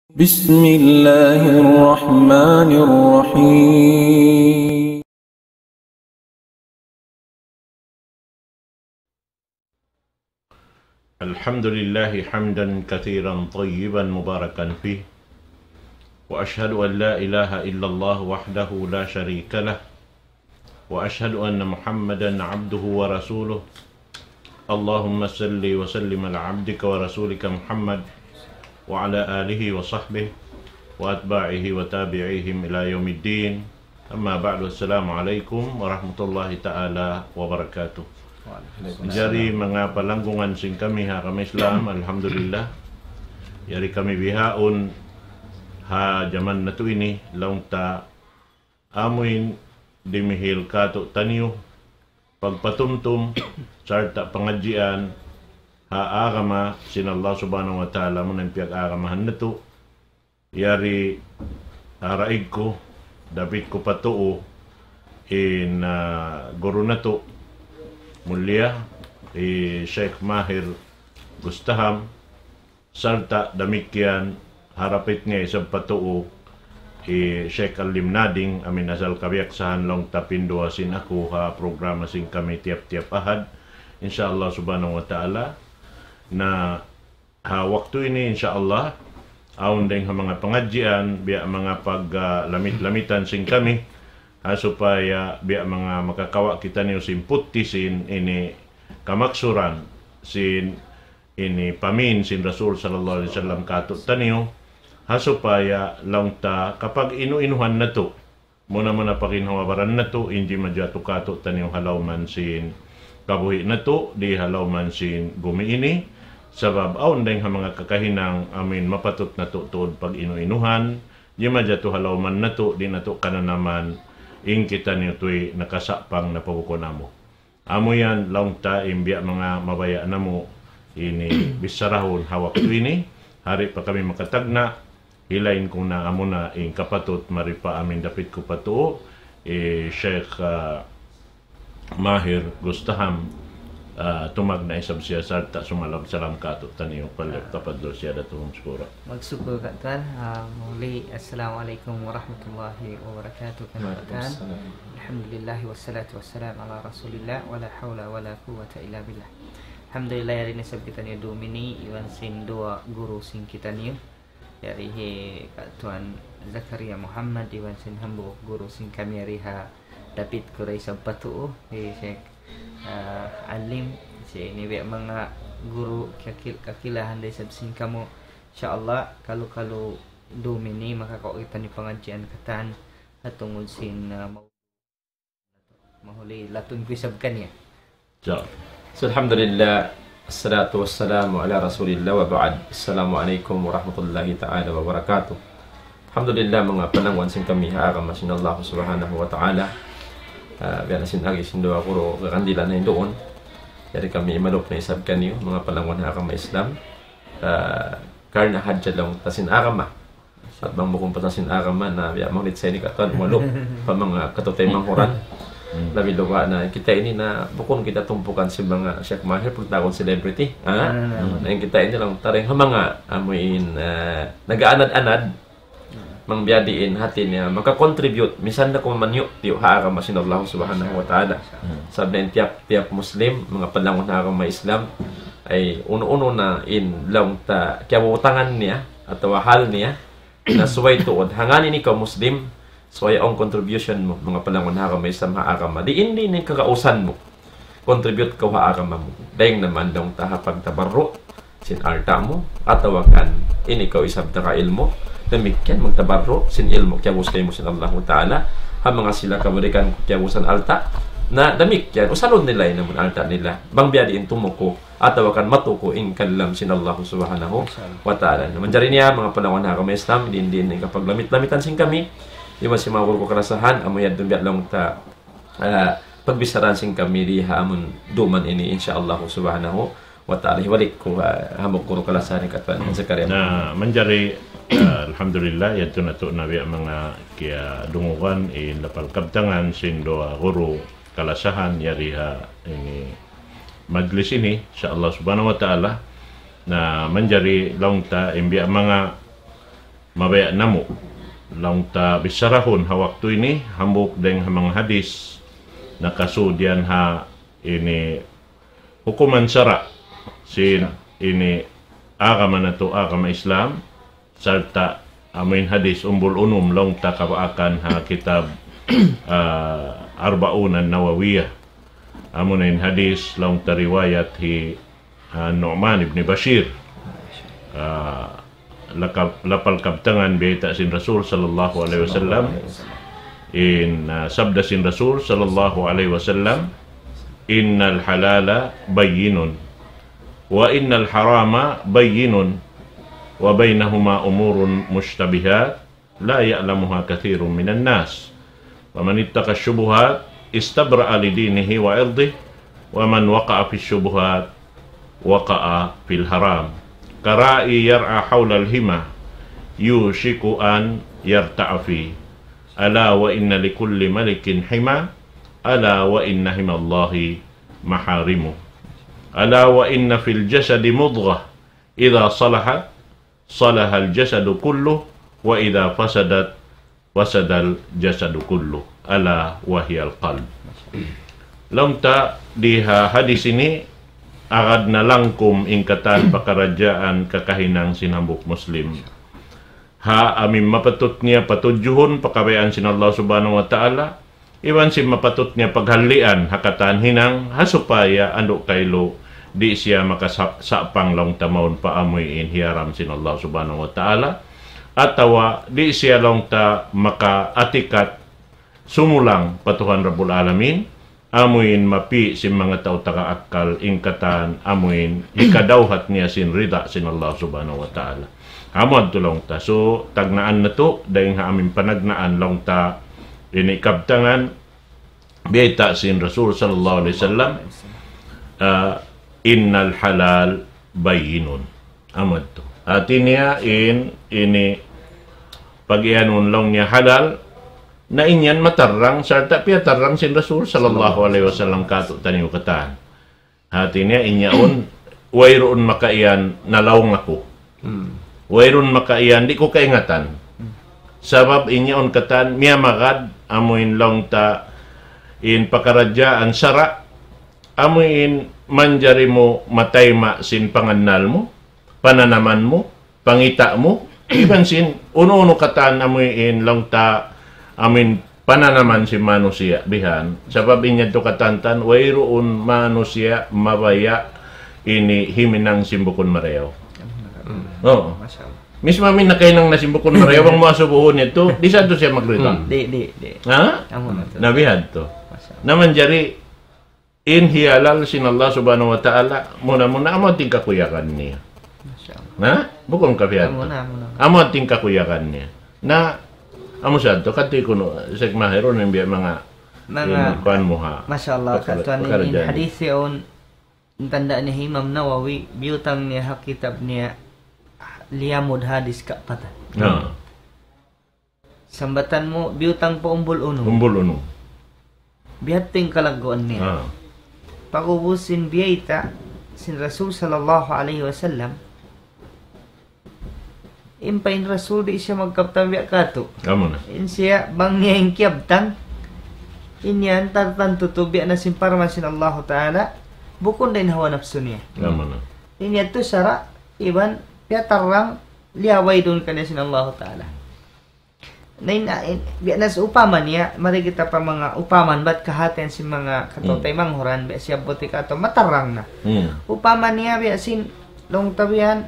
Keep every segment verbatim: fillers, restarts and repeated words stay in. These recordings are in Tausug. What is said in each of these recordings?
بسم الله الرحمن الرحيم. الحمد لله حمدا كثيرا طيبا مباركا فيه، وأشهد أن لا إله إلا الله وحده لا شريك له، وأشهد أن محمدا عبده ورسوله. اللهم صل وسلم على عبدك ورسولك محمد وعلى آله وصحبه وأتباعه وتابعيهم إلى يوم الدين. أما بعد، السلام عليكم ورحمة الله تعالى وبركاته. Jari manga palanggungan sin kami ha agama Islam, alhamdulillah. Jari kami bihaun ha jaman natu' ini, laung ta amuin dimihil katu'taniyu pagpatumtum sarta' pangadjian ha agama sin Allah Subhanahu wa Ta'ala, amun piyag-agamahan natu'. Yari, ah, raig ku, dapit ku pa tuu in, ah, guru natu' mulia, hi Sheikh Mahir Gustaham, sarta' damikkiyan ha rapit niya isab pa tuu hi Sheikh Alim Nading, amuin asal kabiyaksahan laung ta pinduwa sin aku ha programa sin kami tiyap-tiyap Ahad, insya Allah Subhanahu wa Ta'ala. Na ha waktu ini, insya Allah, awn dayng ha manga pangadjian, biya' manga pag, ah, lamit-lamitan sin kami, ha supaya biya' manga makakawa' kitaniyu sin putti sin ini kamaksuran sin ini pamin sin Rasul sallallahu alayhi wasallam katu'taniyu, ha supaya laung ta kapag inu-inuhan natu', muna-muna pa ginhawa-baran natu', in jimatu katu'taniyu ha lawm sin kabuhi' natu', di ha lawm sin gumi ini, sabab awn dayng ha manga kakahinang amuin mapatut natu' tuud pag-inu-inuhan, jimatu ha lawm natu', di' natu' kananaman, in kitaniyu tuy nakasapang na pa bukun amu. Amu yan, laung ta in biya' manga mabaya' namu' ini bicharahun ha waktu ini, di' pa kami makatagna', hilain ku na amuna in kapatut mari pa amuin dapit ku pa tuu, hi Sheikh, ah, Mahir Gustaham, ah, tumagna' isab siya sarta' sumalam-salam katu'taniyu, pal-, tafaddal siyadatuhu mashkura. Magsukul katan, ah, muli, assalamu alaykum warahmatullahi wabarakatuh. Katan, alhamdulillah, wassalatu wassalamu ala rasulillah, wa la hawla wa la quwwata illa billah. Alhamdulillah, yari na isab kitaniyu dum ini, iban sin duwa guru sin kitaniyu. Yari hi Ka' Tuan Zakaria Muhammad, iban sin hambuuk guru sin kami yari ha dapit ku da isab pa tuu, hi Sheikh, ah, Alim, sin ini biya' manga guru kakil-, kakilahan da isab sin kamu. Insya Allah, kalu-kalu dum ini makakawa' kitaniyu pangadjian katan, ha tungud sin, ah, mau-, mahuli latun ku isab kaniya. So, alhamdulillah, assalatu wassalamu ala rasulillah wa ba'd. Assalamu alaykum warahmatullahi ta'ala wabarakatuh. Alhamdulillah, manga panangwan sin kami ha agama sin Allah Subhanahu wa Ta'ala. Ah, biya' na sin agi sin duwa guru, kakandilan na in duun. Yari kami imalup na isab kaniyu, manga panangwan ha agama Islam. Ah, karna' hadja laung ta sin agama. At bang bukun pa sin agama na biya' maulit sa ini katan, malup pa manga kataymanghuran. Labi luba na kita ini na bukun kita tumpukan sin manga Sheikh Mahir, pagtawagun celebrity. Ha? Na in kita ini laung ta dayng ha manga amuin, ah, nag-aanad-anad, bang biya' diin hati niya maka-contribute, misan da kuman maniyu'-tiyu' ha agama sin Allah Subhanahu wa Ta'ala. Sabab na in tiyap-tiyap Muslim, manga panangwan ha agama Islam, ay unu-unu na in laung ta kiyabutangan niya, atawa hal niya, na subay tuud. Hangkan in ikaw Muslim, subay awn contribution mu, manga panangwan ha agama Islam ha agama. Diin-diin in kagausan mu. Contribute kaw ha agama mu. Dayng naman laung ta ha pagtabarru' sin alta' mu, atawa kan in ikaw isab taga ilmu', damikkiyan magtabarru' sin ilmu' kiyabus kaymu sin Allahu Ta'ala, ha manga sila kabalikan kiyabusan alta', na damikkiyan, usalun nila in amun alta' nila. Bang biya' diin tumuku, atawa kan matuku in kalam sin Allahu Subhanahu wa Ta'ala. Na manjari niya, manga panangwan ha agama Islam, diin-diin in kapaglamit-lamitan sin kami, iban sin manga guru ku kalasahan, amu yadtu biya' laung ta, ah, pagbicharahan sin kami di ha amun duman ini, insya Allah Subhanahu wa Ta'ala. Hibalik ku, ah, hambuuk guru kalasahan hi Ka' Tuan Zakaria. Na, manjari, ah, alhamdulillah, yadtu natu' na biya' manga kiyadungugan in lapal kabtangan sin duwa guru kalasahan yari ha ini majlis ini, insya Allah Subhanahu wa Ta'ala. Na manjari laung ta in biya' manga mabaya' namu' laung ta bicharahun ha waktu ini, hambuuk dayng ha manga hadis, nakasud yan ha ini hukuman sara' sin ini agama natu', agama Islam, sarta' amuin hadis umbul unum laung ta kabaakan ha kitab, ah, Arba'un an-Nawawiyah. Amuna in hadis laung ta riwayat hi, ah, Nu'man ibn Bashir. Ah, lakab-, lapal kabtangan bayta' sin Rasul sallallahu alayhi wasallam. In, ah, sabda sin Rasul sallallahu alayhi wasallam, إن الحلال بين وإن الحرام بين وبينهما أمور مشتبهات لا يعلمها كثير من الناس. فمن اتقى الشبهات استبرأ لدينه وعرضه، ومن وقع في الشبهات وقع في الحرام. كالراعي يرعى حول الحمى يوشك أن يرتع فيه. ألا وإن لكل ملك حمى، ألا وإن حمى الله محارمه. ألا وإن في الجسد مضغة إذا صلحت صلح الجسد كله وإذا فسدت فسد الجسد كله ألا وهي القلب. Laung ta di ha hadis ini, agad na langkum in katan pakaradjaan kakahinang sin hambuuk Muslim. Ha amu in mapatut niya patudjuhun pakabayaan sin Allah Subhanahu wa Ta'ala, iban sin mapatut niya paghalian ha katan hinang, ha supaya andu' kailu di' siya makasa-, sapang laung ta mawn pa amu in hiyaram sin Allah Subhanahu wa Ta'ala, atawa di' siya laung ta makaatikat sumulang pa Tuhan Rabbul Alamin, amu in mapi' sin manga tau taga akkal in katan amu in hikadawhat niya sin rida sin Allah Subhanahu wa Ta'ala. Amu yadtu laung ta. So, tagnaan natu', dayng ha amu in panagnaan laung ta ini kabtangan, bayta' sin Rasul sallallahu alayhi wasallam, ah, إن الحلال بين. Amu yadtu. Hati niya in, ini, pag-iyanun laung niya halal, na in yan matarrang, sarta' piyatarrang sin Rasul sallallahu alayhi wasallam kātu'niyu katan. Hati niya in yaun, wayruun makaiyan nalaung aku. Hmm. Wayruun makaiyan di' ku kaingatan. Hmm. Sabab in yaun katan miyamagad amu in laung ta in pakaradjaan sara', amu in manjari mu matayma' sin pangannal mu, pananaman mu, pangita' mu, iban sin unu-unu katan amu in laung ta amu in pananaman sin manusiya' bihan. Sabab in yadtu katantan, wayruun manusiya' mabaya' ini himinang sin bukun marayaw. Hmm. Oo. Masya Allah. Mismo amu in nakahinang na sin bukun marayaw, bang mu asubuhun yadtu, di' sa yadtu siya magrida. Hmm. Di', di', di'. Ha? Amu na yadtu. Na bihan yadtu. Masya Allah. Na manjari in hiyalal sin Allah Subhanahu wa Ta'ala, muna-muna amu in kakuyagan niya. Masya Allah. Na? Bukun ka biya' yadtu. Amu na, amu na. Amu in kakuyagan niya. Na, amu sa yadtu, kati kunu', Sheikh Mahir, unu in biya' manga, manga, in kuwan mu ha. Masya Allah, pakara-, katuan in, in pakaradjaan hadis yaun, in tanda' niya Imam Nawawi, biyutang niya ha kitab niya, liyamud hadis kapatan. Na. Sambatan mu, biyutang pa umbul unum. Umbul unum. Biya' ha yan in kalagguan niya. Ah. Pag'ubus sin biyayta' sin Rasul sallallahu alayhi wasallam, in pa in Rasul di' siya magkabtang biya' katu'. Amu na. In siya, bang niya in kiyabtang, in yan tartantu tuud biya' na sin parman sin Allahu Ta'ala, bukun da in hawa napsu niya. Amu na. In yadtu sara', iban, piyatarrang, liyawaydun kaniya sin Allahu Ta'ala. Na in, in, biya' na sa upama niya, mari kita pa manga upama bat kahatihan sin manga kataw-taymanghuran, biya' siya buti katu', matarrang na. Hmm. Upama niya, biya' sin, laung ta biya' yan,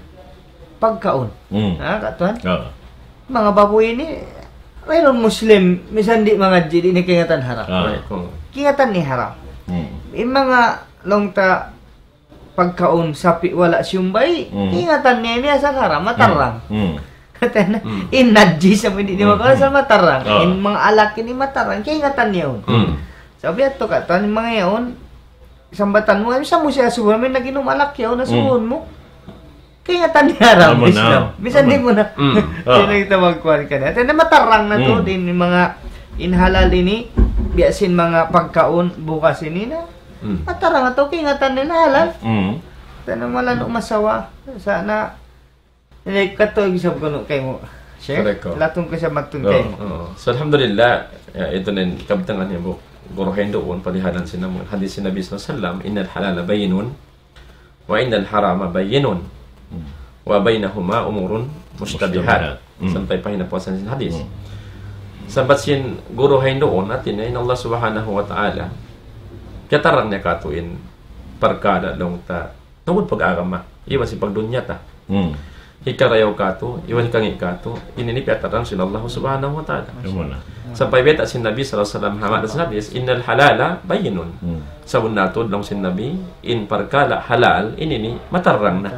pagkaun. Hmm. Ha, katuan? Oo. Manga babuy ini, wayruun Muslim, misan di' mangadji', di' niya kaingatan haram. Ah. Kaingatan niya haram. Hmm. In manga, laung ta, pagkaun sapi' wala' siyumbay, hmm, kaingatan niya ini asal haram, matarrang. Hmm. Hmm. Hati niya, hmm, in najis amu in di' niya makaun, hmm, asal matarrang. Ah. In manga alak ini matarrang, kaingatan niya yaun. Hmm. Sabab yadtu katan, in manga yaun, sambatan mu, "Ay, sa' mu siya asubuhun, amu in nag-inum alak yaun, asubuhun mu." Kaingatan niya haram, amu na, Islam. Misan di' mu na. Hmm. Ah. Di' na kita magkuhan kaniya. Hati niya, matarrang na tuud, hmm, in manga, in halal ini, biya' sin manga pagkaun, bugas ini na. Hmm. Matarrang na tuud, kaingatan niya na halal. Hmm. Hati niya malanu' masawa. Sa' na, ini katu' isab kunu' kaymu. Sheikh, correct, oh. Latun ku sa matun kayu. Oh. So, alhamdulillah, ya, itu na in kabtangan niya, bu-, guru hinduun, palihalan sin namu-, hadith sin Nabi sallallahu alayhi wasallam, إن الحلال بين وإن الحرام بين وبينهما أمور مشتبهات. Sampay pa hinapuasan sin hadith. Sambat sin guru hinduun, hati niya in Allah Subhanahu wa Ta'ala, kiyatarang niya katu' in parkala' laung ta tungud pag-agama, iban sin pagdunya ta. Hikarayaw katu', iban hikangi' katu', ini in piyatarang sin Allah Subhanahu wa Ta'ala. Sampay bayta' sin Nabi sallallahu alayhi wasallam, ha ma'na sin hadith, إن الحلال بين. Sabunnal tuud laung sin Nabi, in parkala' halal, ini ini matarang na.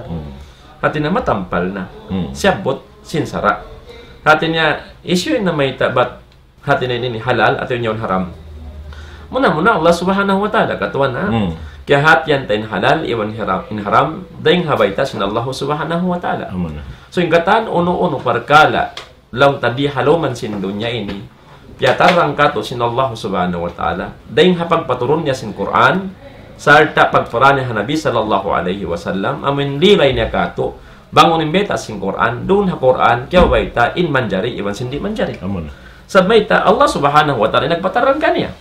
Hati niya matampal na. Siyabbut sin sara'. Hati niya, hisiyu in namayta' bat hati niya ini halal atawa in yaun haram. Muna-muna Allah Subhanahu wa Ta'ala, katuan, ha? Kiyahatihan ta in halal, iban haram, in haram, dayng ha bayta' sin Allah Subhanahu wa Ta'ala. So, in katan unu-unu parkala', laung ta di ha lawm sin dunya ini, piyatarang katu' sin Allah Subhanahu wa Ta'ala, dayng ha pagpaturun niya sin Qur'an, sarta' pagpara niya ha Nabi sallallahu alayhi wasallam, amun lilay niya katu', bang unu in bayta' sin Qur'an, duun ha Qur'an, kiyabayta' in manjari, iban sin di' manjari. Sabab mayta', Allah Subhanahu wa Ta'ala nagpatarang kaniya.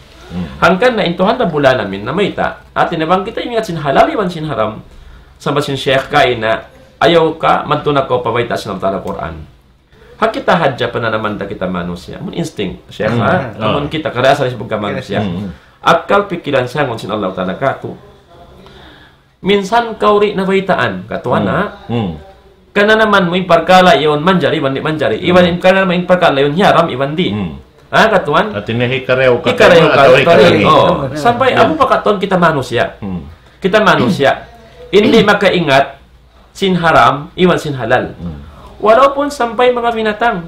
Hangkan na in Tuhan Rabbul Alamin namayta', hati niya bang kita ingat sin halal, iban sin haram, sambat sin Sheikh kaina, ayaw ka, madtu na kaw pa bayta' sin Allah Ta'ala Qur'an. Ha kita hadja pananaman ta kita manusiya'. Amun instinct, Sheikh, ha? Amun kita, kada asal isip ka manusiya'. Akkal pikilan siyangun sin Allah Ta'ala katu'. Minsan kaw di' nabaytaan, katuan, ha? Kananaman mu in parkala' yaun manjari, iban di' manjari. Iban in kananaman in parkala' yaun hiyaram, iban di'. Ha, katuan? Hati niya hikarayaw katu', hikarayaw katu', hikarayaw. Oh. Sampay, amu pa katuan kita manusiya'. Kita manusiya'. Di' makaingat sin haram, iban sin halal. Walaupun sampay manga binatang.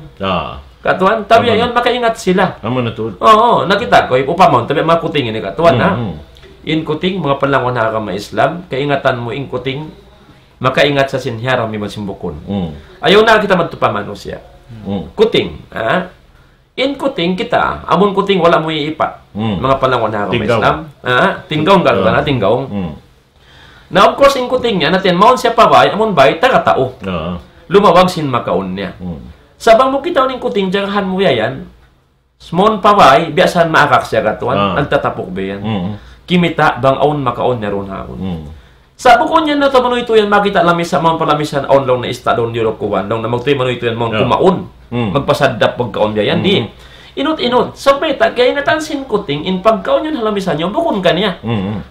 Katuan, tabiya' yaun makaingat sila. Amu na tuud. Oo, nakita' ku, upama, tabiya' manga kuting ini, katuan, ha? In kuting, manga palangun ha agama Islam, kaingatan mu in kuting, makaingat sa sin hiyaram iban sin bukun. Ayaw na kita madtu pa manusiya'. Kuting, ha? In kuting kita, amun kuting wala' mu iipat. Manga palangun ha agama Islam. Ha? Tinggaw, katuan, ha? Tinggaw. Na, of course, in kuting niya, hati niya, mawn siya pa bay, amun bay, taga tau. Lumawag sin makaun niya. Sa' bang mu kitaun in kuting, jagahan mu biya' yan. Mawn pa bay, biya' sa maakak siya, katuan, nagtatapuk biya' yan. Kimita', bang awn makaun niya duun ha awn. Sa' bukun yan na ta manuy tuud yan, makita' lamisa, mawn pa lamisa, awn laung na ista' duun diyuluk kuwan, laung na magtuy manuy tuud yan, mawn kumaun. Magpasaddap pagkaun biya' yan, di'. Inut-inut, sa' mayta', kaingatan sin kuting, in pagkaun yan ha lamisa niya, bukun kaniya.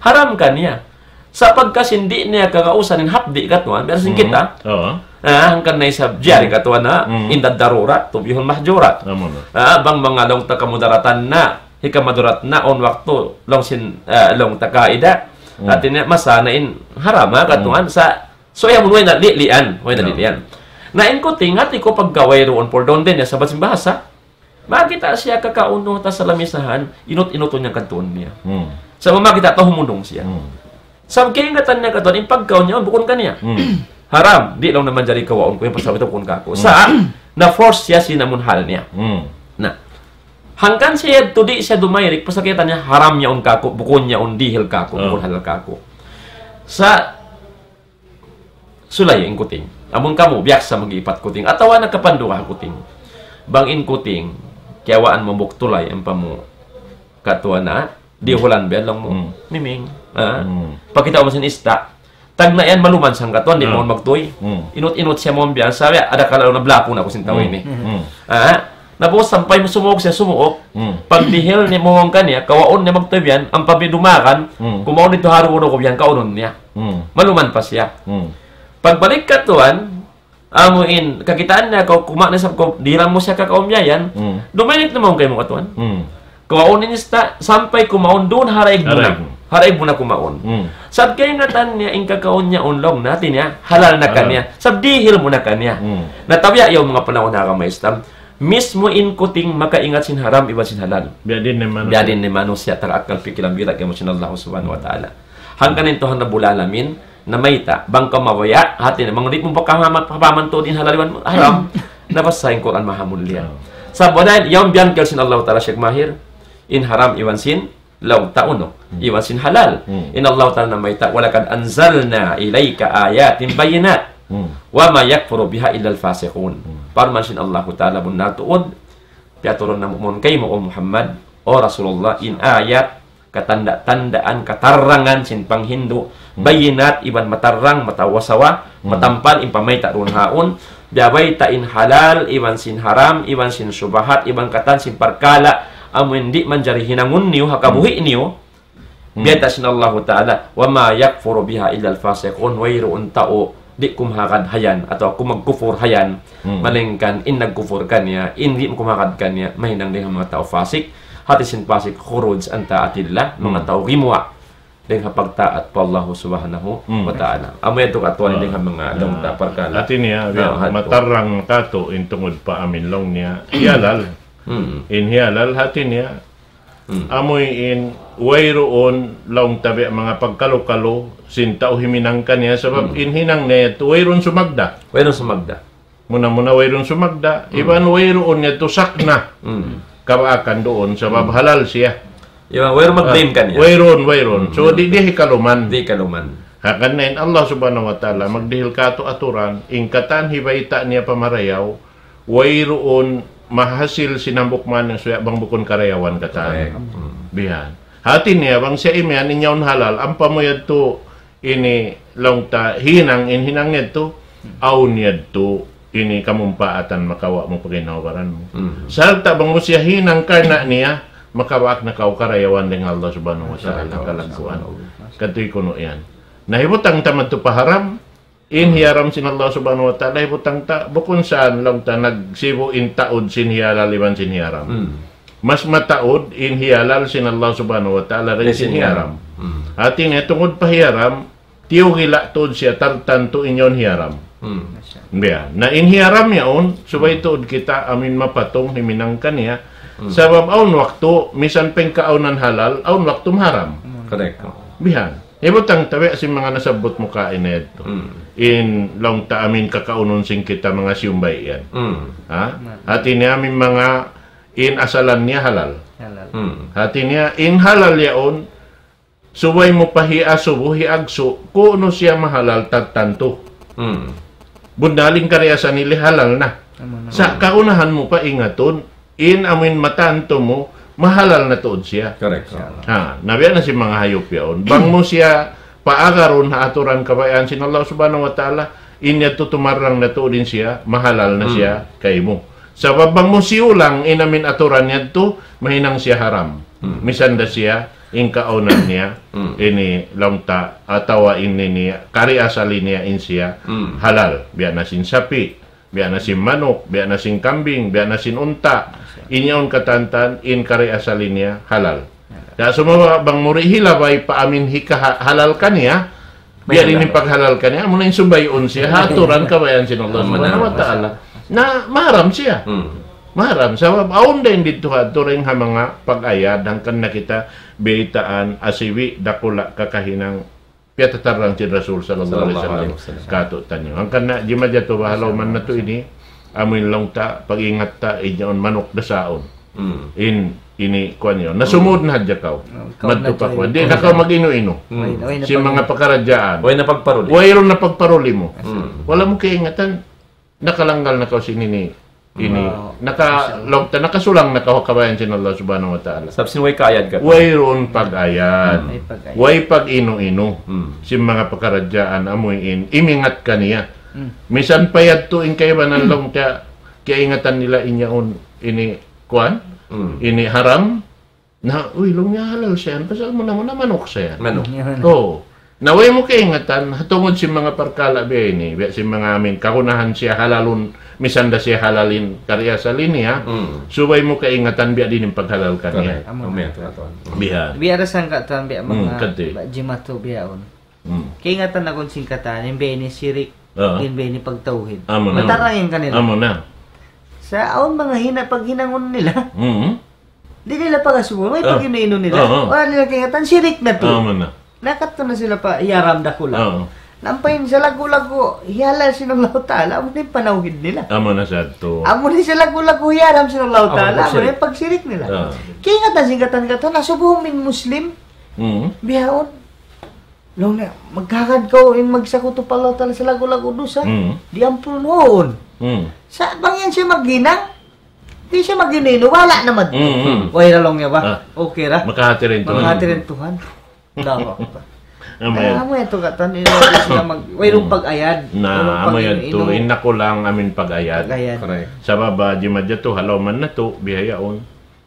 Haram kaniya. Sa' pagka sin di' niya kagausan in hapdi', katuan, biya' sin kita. Ah, hangkan na isab jari, katuan, ha, inda darurat, tubihul mahjurat. Ah, bang manga laung ta kamudaratan na, hikamudarat na, awn waktu, laung sin, ah, laung ta kaida. Hati niya, masa na in haram, ha, katuan, sa', so, yan, way na, li-, lian, way na, lian. Na in kuting, hati ku pagka wayruun, puldaun din, ya, sabat sin bahasa. Makita' siya kakaun ha lamisahan, inut-inutun niya katuun niya. Sa' makita' ta humundung siya. Sa' kaingatan niya katuun, in pagkaun niya, bukun kaniya. Haram, di' laung na manjari kawaun ku, yan pasal itu bukun kaku'. Sa', na-force siya sin amun hal niya. Na, hangkan siya yadtu di' siya dumayrik, pasal kiyata' niya, haram yaun kaku', bukun yaun dihil kaku', bukun halal kaku'. Sa', sulay in kuting. Amun kamu, biyaksa mag-iipat kuting. Atawa nakapanduga kuting. Bang in kuting, kiyawaan mu hambuuk tulay, ampa mu katuan na, dihulan biya' laung mu. Miming. Ah. Pakita' mu sin ista'. Tagna' yan maluman sangkatuan, di' mawn magtuy. Inut-inut siya mawn biya' sa, ada kala na blaku na aku sin tau ini. Ah. Na, pag'ubus sampay sumuuk siya, sumuuk. Pagdihil niya, mawn kaniya, kawaun niya magtuy biya' yan, ampa biya' dumagan, kumaun didtu ha rugu-rugu biya' yan, kaunun niya. Maluman pa siya. Pagbalik katuan, amu in, kakitaan niya, kaw, kuma na isab kaw, dihilan mu siya kakaun biya' yan, dumayrik na mawn kaymu katuan. Kawaun in ista', sampay kumaun duun, haraig mu na. Haraig mu. Haraig mu na kumaun. Sabab kaingatan niya, in kakaun niya, unlong na, hati niya, halal na kaniya. Sabab dihil mu na kaniya. Na tabiya' yaun manga panaun ha agama Islam, mismu in kuting makaingat sin haram iban sin halal. Biya' diin in manusiya'. Biya' diin in manusiya', taga akkal pikilan, biya' kaymu sin Allah Subhanahu wa Ta'ala. Hangkan in Tuhan Rabbul Alamin, namayta', bang kaw mabaya', hati niya, bang di' mu pakahaman, pahaman tuud in halal iban haram. Na basa in Qur'an maha mulia. Sabab yaun biyangkil sin Allah Ta'ala, Sheikh Mahir, in haram iban sin laung ta unu, iban sin halal. In Allah Ta'ala namayta', وَلَقَدْ أَنْزَلْنَا إِلَيْكَ آيَاتٍ بَيِّنَاتٍ. Hmm. وما يكفر بها إلا الفاسقون. Hmm. Parman sin Allahu Ta'ala, bunnal tuud, piyaturun namu' kaymu, O Muhammad, O Rasulullah, in ayat, katanda-tandaan, katarangan sin panghindu', Hmm. bayinat iban matarang, matawasawa, Hmm. matampal in pamayta' duun haun, biya' bayta' in halal, iban sin haram, iban sin subahat, iban katan sin parkala', amu in di' manjari hinangun niyu, ha kabuhi' Hmm. niyu, Hmm. biya' ta sin Allahu Ta'ala, وما يكفر بها إلا الفاسقون, wayruun tau, di' kumahagad hayan, atawa kumagkufur hayan, Hmm. malaingkan in nagkufur kaniya, in di' kumahagad kaniya, mahinang dayn ha manga tau fasik, hati sin fasik, خروج عن طاعة الله, manga Hmm. tau gimuwa' dayn ha pagtaat pa Allahu Subhanahu Hmm. wa Ta'ala. Amu yadtu katuan Ah, dayn ha manga ah, laung ta parkala'. Hati niya, Na, biya', hatu. matarang katu' in tungud pa amin laung niya, hiyalal. Hmm. In hiyalal, hati niya, Hmm. amu in wayruun laung ta biya' manga pagkalu-kalu sin tau himinang kaniya, sabab Hmm. in hinang niya yadtu wayruun sumagda'. Wayruun sumagda'. Muna-muna wayruun sumagda', Hmm. iban wayruun niya tu sakna. Hmm. Kabaakan duun, sabab Hmm. halal siya. Iban wayruun mag-blame Ah, kaniya. wayruun, wayruun. So, Hmm. di', di' hikaluman. Di' hikaluman. Hangkan na in Allah Subhanahu wa Ta'ala, magdihil katu' aturan, in katan hibayta' niya pa marayaw, wayruun mahasil sin hambuuk manusiya' bang bukun karayawan katan. Correct. Hmm. Bihan. Hati niya, bang siya imiyan, in yaun halal, ampa mu yadtu ini laung ta hinang, in hinang yadtu, awn yadtu, ini kamumpaatan makawa' mu pa ginhawa-baran mu. Hmm. Sarta' bang mu siya hinang karna' niya, makawa' na kaw karayawan dayn ha Allah Subhanahu wa Ta'ala, Masya Allah, kalagguan. Masya Allah. Katuy kunu' yan. Na hibutang ta madtu pa haram, in Hmm. hiyaram sin Allah Subhanahu wa Ta'ala, hibutang ta, bukun sa laung ta nagsibu' in taud sin hiyalal iban sin hiyaram. Hmm. Mas mataud in hiyalal sin Allah Subhanahu wa Ta'ala dayn Dayn sin sin hiyaram. hiyaram. Hmm. Hati niya tungud pa hiyaram, tiyugila' tuud siya tartantu in yaun hiyaram. Hmm. Biya'. Na in hiyaram yaun, subay Hmm. tuud kita amin mapatung himinang kaniya. Hmm. Sabab awn waktu, misan pa in kaawnan halal, awn waktu maharam. Hmm. Correct. Bihan. Hibutang ta biya' sin manga nasabbut mu kaina yadtu. Hmm. In laung ta amin kakaunun sin kita manga siyumbay yan. Hmm. Ha? Hmm. Hati niya amin manga in asalan niya halal. Halal. Hmm. Hati niya in halal yaun, subay mu pa hiasubu, hiagsu', kunu' siya mahalal tartantu. Hmm. Bunnal in kariasan nila halal na. Amu na. Sa' kaunahan mu pa ingatun, in amin matantu mu, mahalal na tuud siya. Correct. Insya Allah. Ha, na biya' na sin manga hayup yaun. Bang mu siya paagarun ha aturan kabayaan sin Allah Subhanahu wa Ta'ala, in yadtu tumarang na tuud in siya, mahalal na Hmm. siya kaymu. Sabab bang mu siyulang in amin aturan yadtu, mahinang siya haram. Hmm. Misan da siya, in kaawnan niya, Hmm. ini laung ta, atawa ini niya, kari asal niya in siya, Hmm. halal. Biya' na sin sapi', biya' na sin manuk, biya' na sin kambing, biya' na sin unta'. Masya Allah. In yaun katantan, in kari asal niya halal. Halal. Kaya sumagawa' bang mu di' hilabay pa amin hikaha-, halal kaniya, biya' May diin halal. in paghalal kaniya, amu na in sumbayun siya, ha aturan kabayaan sin Allah Amu na. Subhanahu wa Ta'ala. Na maharam siya. Hmm. Maharam. Sabab awn da in didtu ha aturan ha manga pag-ayad, hangkan na kita baytaan, asibi', dakula', kakahinang, piyatatarang sin Rasul sallallahu alayhi Sallallahu wasallam alayhi wasallam. Katu'taniyu. Hangkan na, jimatu baha' laung man natu' ini, amu in laung ta, pag-ingat ta, in yaun manuk dasaun. Hmm. In, ini, kuwan yaun. Nasumud na hadja kaw. Hmm, kaw Madtu na pa jail. kuwan. Di' na kaw mag-inu-inu. Hmm. Way, way na Sin pag- manga pakaradjaan. Way na pagparuli. Wayruun na pagparuli mu. Hmm. Wala' mu kaingatan, nakalanggal na kaw sin ini. Ini, Wow. naka-, Masya Allah. laung ta, nakasulang na kaw ha kabayaan sin Allah Subhanahu wa Ta'ala. Sabab sin way kaayad katu'. Wayruun pag-ayad. Hmm. Way pag-ayad. Way pag-inu-inu. Hmm. Sin manga pakaradjaan, amu in, imingat kaniya. Hmm. Misan pa yadtu in kaibanan laung ta, kiyaingatan nila in yaun, ini, kuwan, Hmm. ini haram, na, uy, laung niya halal siya yan. Pasal muna-muna manuk siya yan. Manuk. Yan. Oo. Na way mu kaingatan, ha tungud sin manga parkala' biya' ini, biya' sin manga amin, kagunahan siya halalun, misan da siya halal in kari asal niya, Hmm. subay mu kaingatan biya' diin in paghalal kaniya. Correct. Amu na. Amu yan, tuwan. Biya'. Biya' da sangka' tuwan biya' Hmm, manga kati. ba-, jimatu biya' yaun. Hmm. Kaingatan na kunu' sin katan, in biya' ini sirik, Ah. in biya' ini pagtawhid. Amu na. Matarang yan kanila. Amu na. Sa' awn manga hina paghinangun nila. Hmm. Di' nila pagasubuhun, way Ah. pag-inu-inu nila. Ah, ah. Wala' nila kaingatan, sirik na tuud. Ah, amu na. Nakadtu na sila pa hiyaram dakula'. Ah. Ampa in salaggu'-laggu', hihalal sin Allahu Ta'ala, amu na in panawhid nila. Amu na sadtu. Amu na in salaggu'-laggu', hiyaram sin Allahu Amu na Ta'ala, amu na sirik. in pagsirik nila. Ah. Kaingatan sin katan-katan, asubuhun mu in Muslim, Hmm. bihaun. Laung niya, magkahagad kaw in magsakutu pa Allah Ta'ala sin laggu'-laggu' dusa. Mm. Di' ampun, huun. Mm. Sa' bang yan siya maghinang, di' siya maghinang, wala' na madtu. Mm, mm. Way ra laung niya ba? Ah. Okay ra. Makahati ra in Tuhan. Makahati ra in Tuhan. Allahu Akbar. Amu yan. Ah, amu yan tu katan, in sila mag-, wayruun pag-ayad. Na, wayruun amu yan tu, pag-inu-inu. In nakulang amin pag-ayad. Pag-ayad. Correct. Sabab, ah, jimajatu, halaw man natu', bihaun.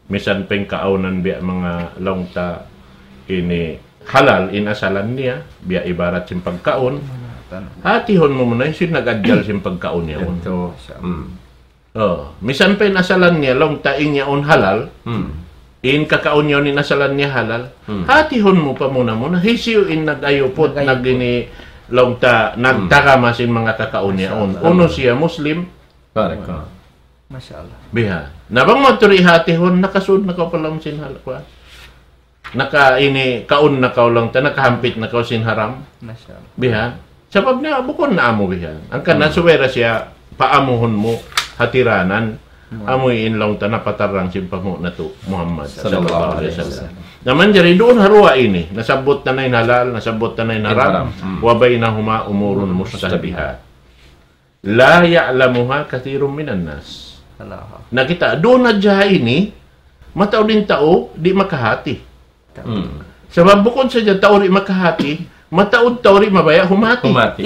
Misan pa in kaawnan biya' manga laung ta ini halal in asalan niya, biya' ibarat sin pagkaun. Hatihun mu muna in sin nag-adjal sin pagkaun yaun. Ito. Hmm. Oh, misan pa in asalan niya, laung ta in yaun halal, Hmm. in kakaun yaun in asalan niya halal. Hmm. Hatihun mu pa muna-muna, hisiyu in nag-ayuput, Nag-ayuput. nag-ini, laung ta, Hmm. nagtagama sin manga kakaun yaun. Masha Allah. Unu siya Muslim? Correct. Masha Allah. Biha'. Na bang mu tuud hatihun, nakasud na kaw pa lawm sin hal-, kuwan. Naka ini, kaun na kaw laung ta, nakahampit na kaw sin haram. Masha Allah. Biha'. Sabab na, bukun na amu biha'. Hangkan na Hmm. subay ra siya, paamuhun mu, hatiranan. Hmm. Amu in laung ta, napatarrang sin panghu' natu', Muhammad Sallallahu sallallahu alayhi alayhi wasallam. wasallam. Na manjari duun ha duwa ini, nasabbut ta na in halal, nasabbut ta na in In haram. haram. Hmm. وبينهما أمور مشتبهات. لا يعلمها كثير من الناس. Allahu Akbar. Na kita, duun na hadja ini, mataud in tau, di' makahati. Hmm. Sabab bukun sadja tau di' makahati, mataud tau di' mabaya' humati. Humati.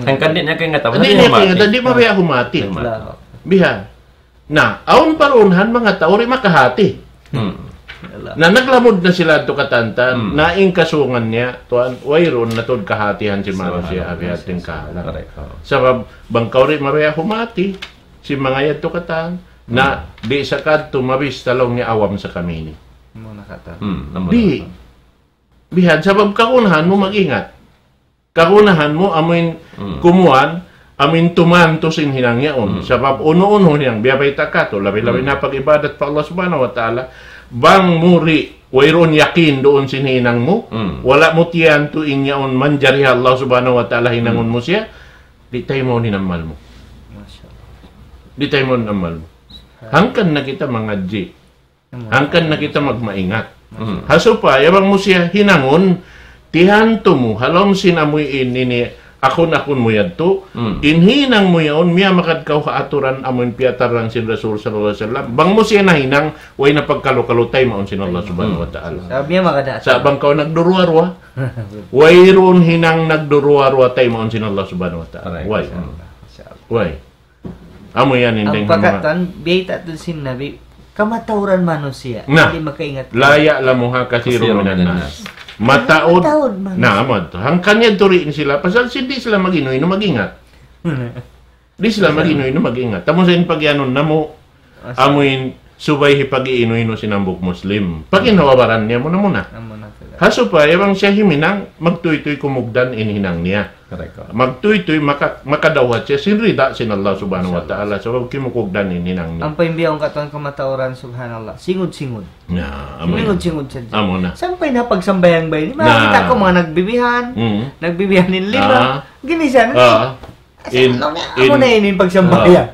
Hangkan di' niya kaingatan, Di' di' niya humati. kaingatan, di' mabaya' humati. Di' humati. Allahu Akbar. Biha'. Na, awn pa duun han manga tau di' makahati. Hmm. Na, naglamud na sila tu katantan, Hmm. na in kasungan niya, tuwan, wayruun na tuud kahatihan sin manusiya', Subhanallah. Abihat in kahalan. Correct. Oh. Sabab, bang kaw di' mabaya' humati, sin manga yadtu katan, na, Hmm. di' sa kadtu mabista laung niya awam sa kami ini. Muna katan. Hmm, namu Di'. na katan. Bihan, sabab kagunahan mu mag-ingat. Kagunahan mu, amuin Hmm. kumuan, amuin tumantu sin hinang yaun. Hmm. Sabab unu-unu hinang, biya' bayta' katu', labi-labi Hmm. na pag-ibadat pa Allah Subhanahu wa Ta'ala. Bang mu di', wayruun yakin duun sin hinang mu, Hmm. wala' mu tiyantu in yaun manjari ha Allah Subhanahu wa Ta'ala hinangun Hmm. mu siya, di' taymaun in amal mu. Masha Allah. Di' taymaun in amal mu. Hangkan na kita mangadji'. Hangkan na kita magmaingat. Hmm. Ha supaya bang mu siya hinangun, tiyantu mu, ha lawm sin amuin ini, akun-akun mu yadtu, Hmm. in hinang mu yaun, miyamagad kaw ha aturan amuin piyatarrang sin Rasul sallallahu alayhi wasallam. Bang mu siya nahinang, way na pagkalu-kalu taymaun sin Allah Subhanahu wa Ta'ala. Sa' miyamagad ha aturan. Sa' bang kaw nagduruwa-ruwa, wayruun hinang nagduruwa-ruwa taymaun sin Allah Subhanahu wa Ta'ala. Correct. Way. Masha Allah. Masha Allah. Way. Amu yan in Ang dayng ha manga pagkatan, biyayta' tuud sin Nabi, kamatauran manusiya', Na, di' makaingat. لا يعلمها كثير من الناس. Mataud. Mataud manusiya'. Na, amu yadtu. Hangkan yadtu tuud in sila, pasal sin di' sila mag-inu-inu mag-ingat. Di' sila mag-inu-inu mag-ingat. Tamu sa in pag-iyanun namu', Asa. amuin subay hipag-iinu-inu sin hambuuk Muslim. Pag-inhawabaran niya muna-muna. Amu na sila. Ha supaya bang siya himinang, magtuytuy kumugdan in hinang niya. Correct. Magtuytuy maka-, makadawhat siya sin rida sin Allah Subhanahu wa Ta'ala. Sabab kimukugdan in hinang niya. Ampa in biya' katan kamatauran, subhanallah. Singud-singud. Na, amu na. Singud-singud sadja. Amu na. Sampay na pagsambahayang bay. Na. Makita' ku manga nagbibihan. Mm. Nagbibihan in lima. Ah. Ginisan. Ah. Asa In, laung niya, in, amu na ini in pagsambahayang. ah,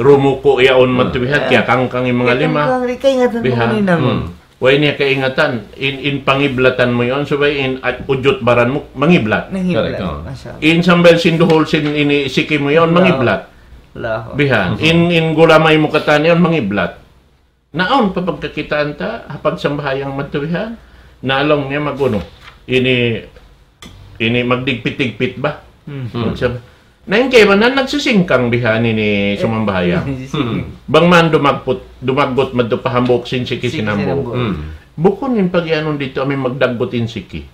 rumuku' yaun madtu bihan, Ah. kiyakangkang in manga lima. Kiyakangkang, di' kaingatan Bihan. mu ini namu'. Hmm. Way niya kaingatan, in, in pangiblatan mu yaun, subay in, at, ujut baran mu, mangiblat. Mangiblat. Correct, oh. Masha Allah. In sambil sin duhul sin ini siki mu yaun, Allah. mangiblat. Allahu Akbar. Bihan. Mhm. In, in gulamay mu katan yaun, mangiblat. Na awn pa pagkakitaan ta, ha pagsambahayang madtu bihan, na laung niya mag-unu. Ini, ini magdigpit-digpit ba? Hmm. Hmm. Magsab-, na in kaibanan nagsisingkang bihan ini sumambahayang. Sisingkang. Hmm. Bang man dumagput, dumaggut madtu pa hambuuk sin siki sin hambuuk. Siki sin hambuuk. Hmm. Bukun in pag-iyanun didtu amuin magdaggut in siki.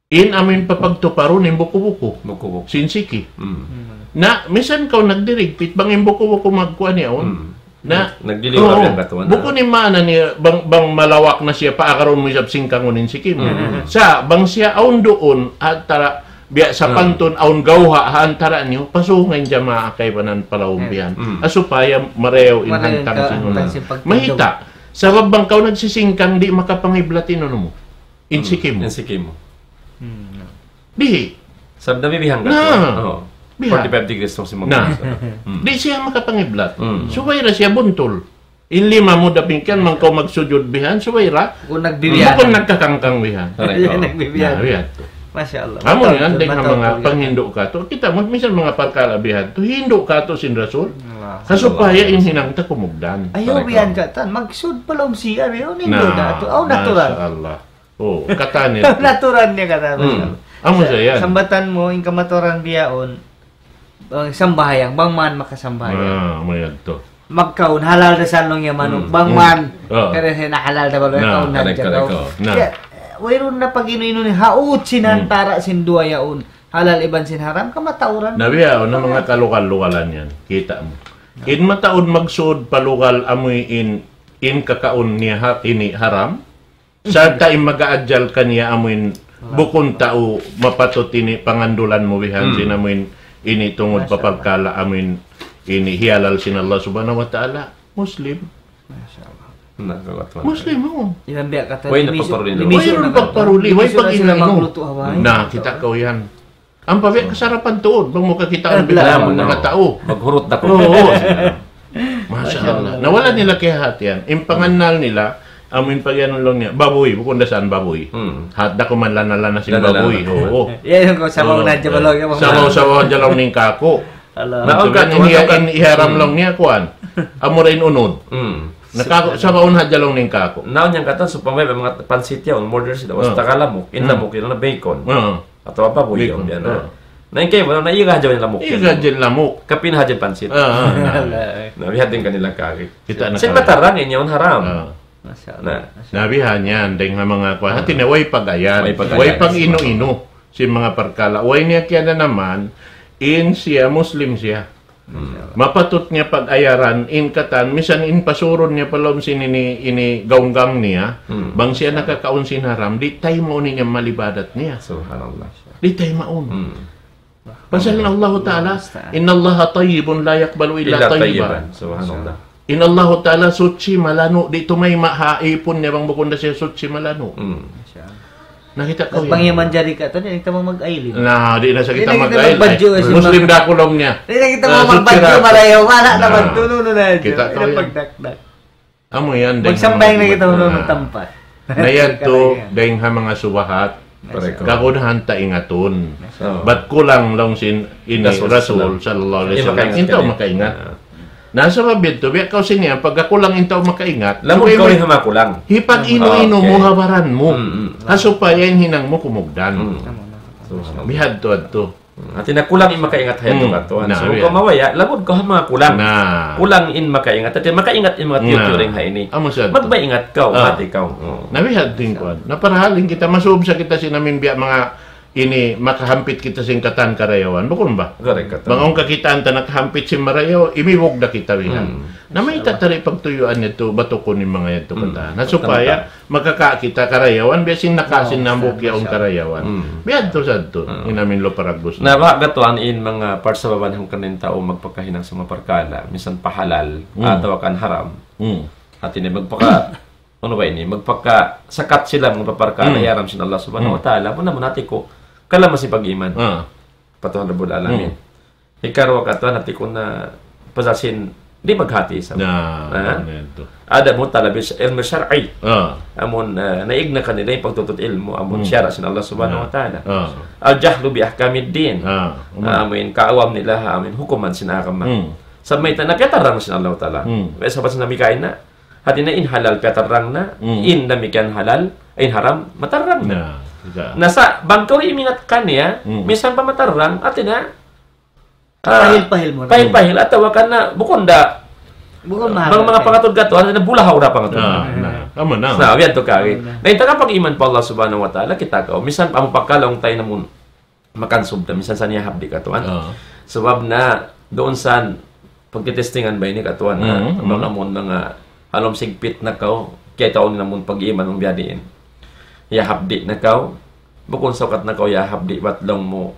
In amuin papagtuparun in buku-buku. Buku-buku. Sin siki. Mm. Mm. Na, misan kaw nagdirigpit, bang in buku-buku magkuan yaun. Mm. Na, Nag-, nagdiliwar oo, yan katuan na. Bukun in maana niya, bang, bang malawak na siya, paagarun mu isab singkangun in siki mu. Mm. Sa', bang siya awn duun, antara, biya' sapantun, awn gawha', ha antara niyu, pasunga in jamaa kaibanan palaumpihan. Mm. Ha supaya marayaw in hantang sin pagtindug. Mahita'. Sabab bang kaw nagsisingkang, di' makapangiblat in unu mu. In siki mu. In siki mu. Hmm, na. Di'. Sabab nabibihan ka. Na. Oo. Bihan. Forty-five degrees tong si Muhammad. Na. Hmm. Di' siya makapangiblat. Hmm. Subay ra siya buntul. In lima mu damikkiyan, bang kaw magsujud bihan, subay ra. Kung nagbibihan. Bukun nagkakangkang bihan. Correct, oo. Nagbibihan. Na, bihan. Masya Allah. Amu yan, dayng ha manga panghindu' katu'. Kita' mu, misan manga parkala' bihan tu, hindu' katu' sin Rasul. Ha supaya in hinang ta kumugdan. Ayaw bihan katan, magsud pa lawm C R, yaun hindu' na tu. Aw, natural. Masya Allah. Oh, katan yan. Natural niya katan. Amu sa yan. Sambatan mu, in kamaturan bihaun, sambahayang, bang man makasambahayang. Ah, amu yan tu. Magkaun, halal da sa laung niya manuk. Bang man, kada siya na halal da balu', kaun na hadja kaw. Wayruun na pag-inu-inu ni, haut sin antara' sin duwa yaun. Halal iban sin haram, kamatauran. Na bihaun na manga kalugal-lugalan yan. Kita' mu. In mataud magsud pa lugal amu in, in kakaun niya ha-, ini haram. Sarta' in mag-aajal kaniya amu in bukun tau mapatut ini pangandulan mu bihan sin amu in ini tungud pa parkala' amu in ini hiyalal sin Allah Subhanahu wa Ta'ala. Muslim. Masya Allah. Muslim, oo. Way na pagparuli. Way na pagparuli. Way pag-inu-inu. Na, kita' kaw yan. Ampa biya' kasarapan tuud, bang mu kakitaan biya' manga tau. Maghurut da ku. Oo. Masya Allah. Na wala' nila kiyahatihan. In pangannal nila, amu in pag-iyanun laung niya, babuy, bukun da san babuy. Hat da ku man lana-lana sin babuy. Oo. Yan in sabaw na hadja laung niya. Sabaw-sabaw hadja laung niya kāku'. Na in hiyaram laung niya kuwan. Amura in unud. Na kāku', sabaw na hadja laung niya kāku'. Na yan katan, supaya manga pansit yan, order sila. Basta ka lamuk, in lamuk yan na bacon. Atawa babuy yan, yan, ah. Na in kaibanan, na iga hadja in lamuk. Iga hadja in lamuk. Kapin hadja in pansit. Ah, ah, na. Na biya' diin kanila kari. Kita' na kari. Sin matarrang in yaun haram. Ah. Masya Allah. Na. Na biya' yan, dayng ha manga kuwan. Hati niya, way pag-ayad. Way pag-ayad. Way pag-inu-inu. Sin manga parkala'. Way niya kiyadanaman, in siya, Muslim siya. Mapatut niya pag-ayaran, in katan, misan in pasurun niya pa lawm sin ini, ini gaunggang niya, bang siya nakakaun sin haram, di' taymaun niya in amal ibadat niya. Subhanallah. Di' taymaun. Pasal in Allahu Ta'ala, إن الله طيب لا يقبل إلا طيبا. Subhanallah. In Allahu Ta'ala suchi malanu', di' tumayma' ha ipun niya bang bukun da siya suchi malanu'. Nakita' kaw yan. Bang yan manjari katan, di' na kita mag-ailin. Na, di' na sa kita mag-ailin. Muslim da aku laung niya. Di' na kita magbadju marayaw, wala' na magtunu na yan. Kita' kaw yan. Amu yan, dayng ha manga subahat. Magsambahayang na kita, wala' na tampat. Na yan tu, dayng ha manga subahat. Kagunahan ta ingatun. Bat kulang laung sin ini Rasul sallallahu alayhi wasallam. In tau makaingat. Na sabab yadtu, biya' kaw sin yan, pagka kulang in tau makaingat. Lamud kaw in ha manga kulang. Hipag-inu-inu mu ha baran mu. Ha supaya in hinang mu kumugdan. Bihadtu-hadtu. Hati niya kulang in makaingat ha yadtu katuan. So, bang kaw mabaya', lamud kaw ha manga kulang. Kulang in makaingat. Hati niya makaingat in manga tiyu'-tiyu' dayng ha ini. Magmaingat kaw, hati kaw. Na bihadtu in kuwan. Na parahal in kita, masub sa kita sin amin biya' manga ini makahampit kita sin katan karayawan. Bukun ba? Correct, katan. Bang awn kakitaan ta nakahampit sin marayaw, imibug da kita bihan. Na mayta' ta di' pagtuyuan yadtu, batukun in manga yadtu katan. Na supaya makaka' kita karayawan, biya' sin naka' sin hambuuk yaun karayawan. Biya' yadtu sadtu, in amin Luparagus. Na ba, katuan in manga parsababan hangkan in tau magpakahinang sin manga parkala', misan pa halal, atawa kan haram. Hati niya magpaka- Unu ba ini? Magpakasakat sila manga parkala' hiyaram sin Allah Subhanahu wa Ta'ala. Amun, amun hati ku, kalam sin pag-iman. Pa Tuhan Rabbul Alamin. Hikaruwa katuan hati ku na pasal sin di' maghati sa. Ada mu talab ilmu shar'i. Amun, ah, naig na kanila in pagtutut ilmu, amun sara' sin Allah Subhanahu wa Ta'ala. الجهل بأحكام الدين. Amun kaawam nila, amun hukuman sin agama. Sa' mayta' na kiyatarrang sin Allah Ta'ala. May sabat sin Nabi kaina, hati niya in halal kiyatarrang na, in damikkiyan halal, in haram matarrang na. Na, sa' bang kaw imingat kaniya, misan pa matarrang, hati niya, ah, pahil-pahil mu na. Pahil-pahil, atawa kan na, bukun da, bang manga pangatud katu', hati niya bulahaw da pangatud. Na, na, amu na. Na, biya' tu kari. Na, in taga pag-iman pa Allah Subhanahu wa Ta'ala, kita' kaw, misan pa amu pagkalaung tayo namun, makansub da, misan sa niya habdi katuan. Sabab na, duun sa pagkitestingan ba ini katuan, ha? Bang amun manga halawm sigpit na kaw, kiyataun namun pag-iman mung biya' diin. Ya habdi na kaw, bukun sa ukat na kaw ya habdi, bat laung mu.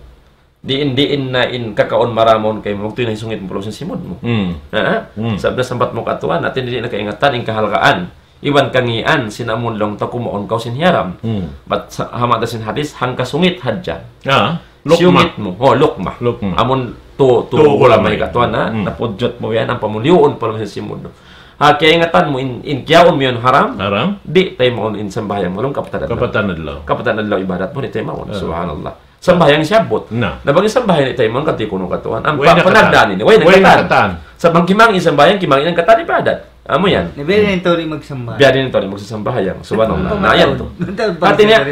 Diin-diin na in kakaun maramun kaymu, waktu in sungit mu pa lawm sin simud mu. Ha? Sabab na sambat mu katuan, hati niya di' na kaingatan in kahalgaan. Iban kangīan, sin amun laung ta kumaun kaw sin hiyaram. Bat sa-, ha mata sin hadis, hangka sungit hadja. Ah, lukma. Siyungit mu. Oh, lukma. Lukma. Amun tu, tu, tu gulama gulama katuan, ha? Napudjut mu yan, ampa mu liyuun pa lawm sin simud mu. Ha, kaingatan mu in, in kiyaun mu yan haram. Haram. Di' taymaun in sambahayang mu laung kapatan adlaw. Kapatan adlaw. Kapatan adlaw ibadat mu di' taymaun. Ah. Subhanallah. Sambahayang siyabbut. Na. Na bang in sambahayang di' taymaun kati' kunu' katuan. Ampa panagdaan ini. Way na katan. Way na katan. Sa' bang kimangi' in sambahayang, kimangi' in katan ibadat. Amu yan. Na biya' diin in tau di' magsambahayang. Biya' diin in tau di' magsambahayang. Subhanallah. Na yan tu. Hati niya,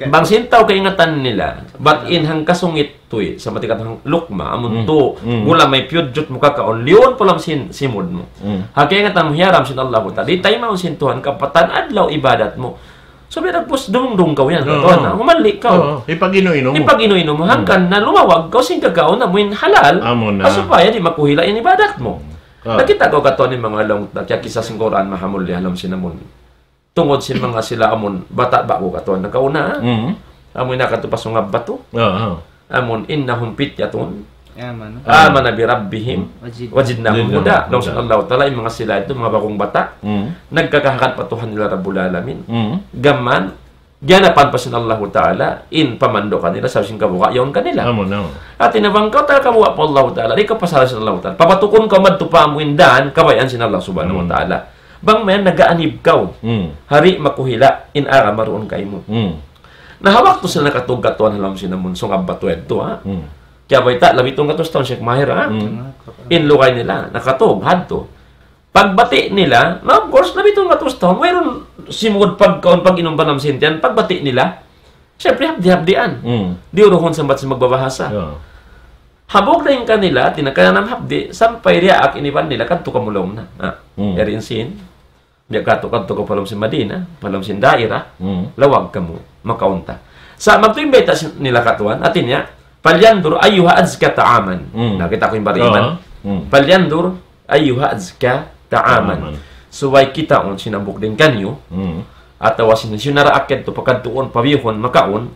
bang sin tau kaingatan nila, bat in hangkasungit tuwi', sa' matikat hang lukma, amun tu, gula may piyudjut mu kakaun, liyun pa lawm sin simud mu. Ha, kaingatan mu hiyaram sin Allahu Ta'ala. Di' taymaun sin Tuhan kapatan adlaw ibadat mu. So, biya' nagpus dumungdung kaw yan, katuan na. Humalli' kaw. Oo, hipag-inu-inu mu. Hipag-inu-inu mu. Hangkan na lumawag kaw sin kakaun amu in halal. Amu na. Supaya di' makuhila' in ibadat mu. Ah. Nakita' kaw katuan in manga laung, nakiyakisa sin Qur'an, mahamulliya ha lawm sin amun. Tungud sin manga sila amun bata' ba'gu katuan nakauna, ha? Mm. Amun nakatupas manga batu. Ah, ah. Amun إنهم فتية آمنوا آمنوا بربهم وزدناهم هدى. Laung sin Allahu Ta'ala, in manga sila yadtu, manga ba'gung bata', nagkakahagad pa Tuhan nila Rabbul Alamin. Mm. Gam mayan, giyanapan pa sin Allahu Ta'ala in pamandu' kanila, sabab sin kabuga' yaun kanila. Amu na. Hati niya bang kaw taga kabuga' pa Allahu Ta'ala, di' kaw pasal sin Allahu Ta'ala. Papatukun kaw madtu pa amu in dan, kabayaan sin Allah Subhanahu wa Ta'ala. Bang mayan nag-aanib kaw. Mm. Di' makuhila' in agama duun kaymu. Mm. Na ha waktu sila nakatug katuan ha lawm sin amun sungab batu yadtu, ha? Mm. Kiyabayta', labi tunggatus tahun, Sheikh Mahir, ha? Mm. In lugay nila, nakatug, hadtu. Pagbati' nila, na of course, labi tunggatus tahun, wayruun simud pagkaun, pag-inum, panam sin tiyan, pagbati' nila, siyempre, hapdi'-hapdian. Mm. Diyuruhun sambat sin magbabahasa. Yeah. Hambuuk dayn kanila, tinakayanam hapdi', sampay diyaak in iban nila, kadtu kamu laung na. Ah, yari in sin. Biya' katu', kadtu kaw pa lawm sin Madina, pa lawm sin daira, lawag kamu, makaun ta. Sa' magtuy in bayta' sin, nila katuan, hati niya, فلينظر أيها أزكى طعاما. Mm. Na, kita' ku in bariman. Oo. Mm. فلينظر أيها أزكى طعاما. Subay kitaun sin hambuuk dayn kaniyu, atawa sin, sin naraak yadtu pakadtuun, pabiyuhun, makaun,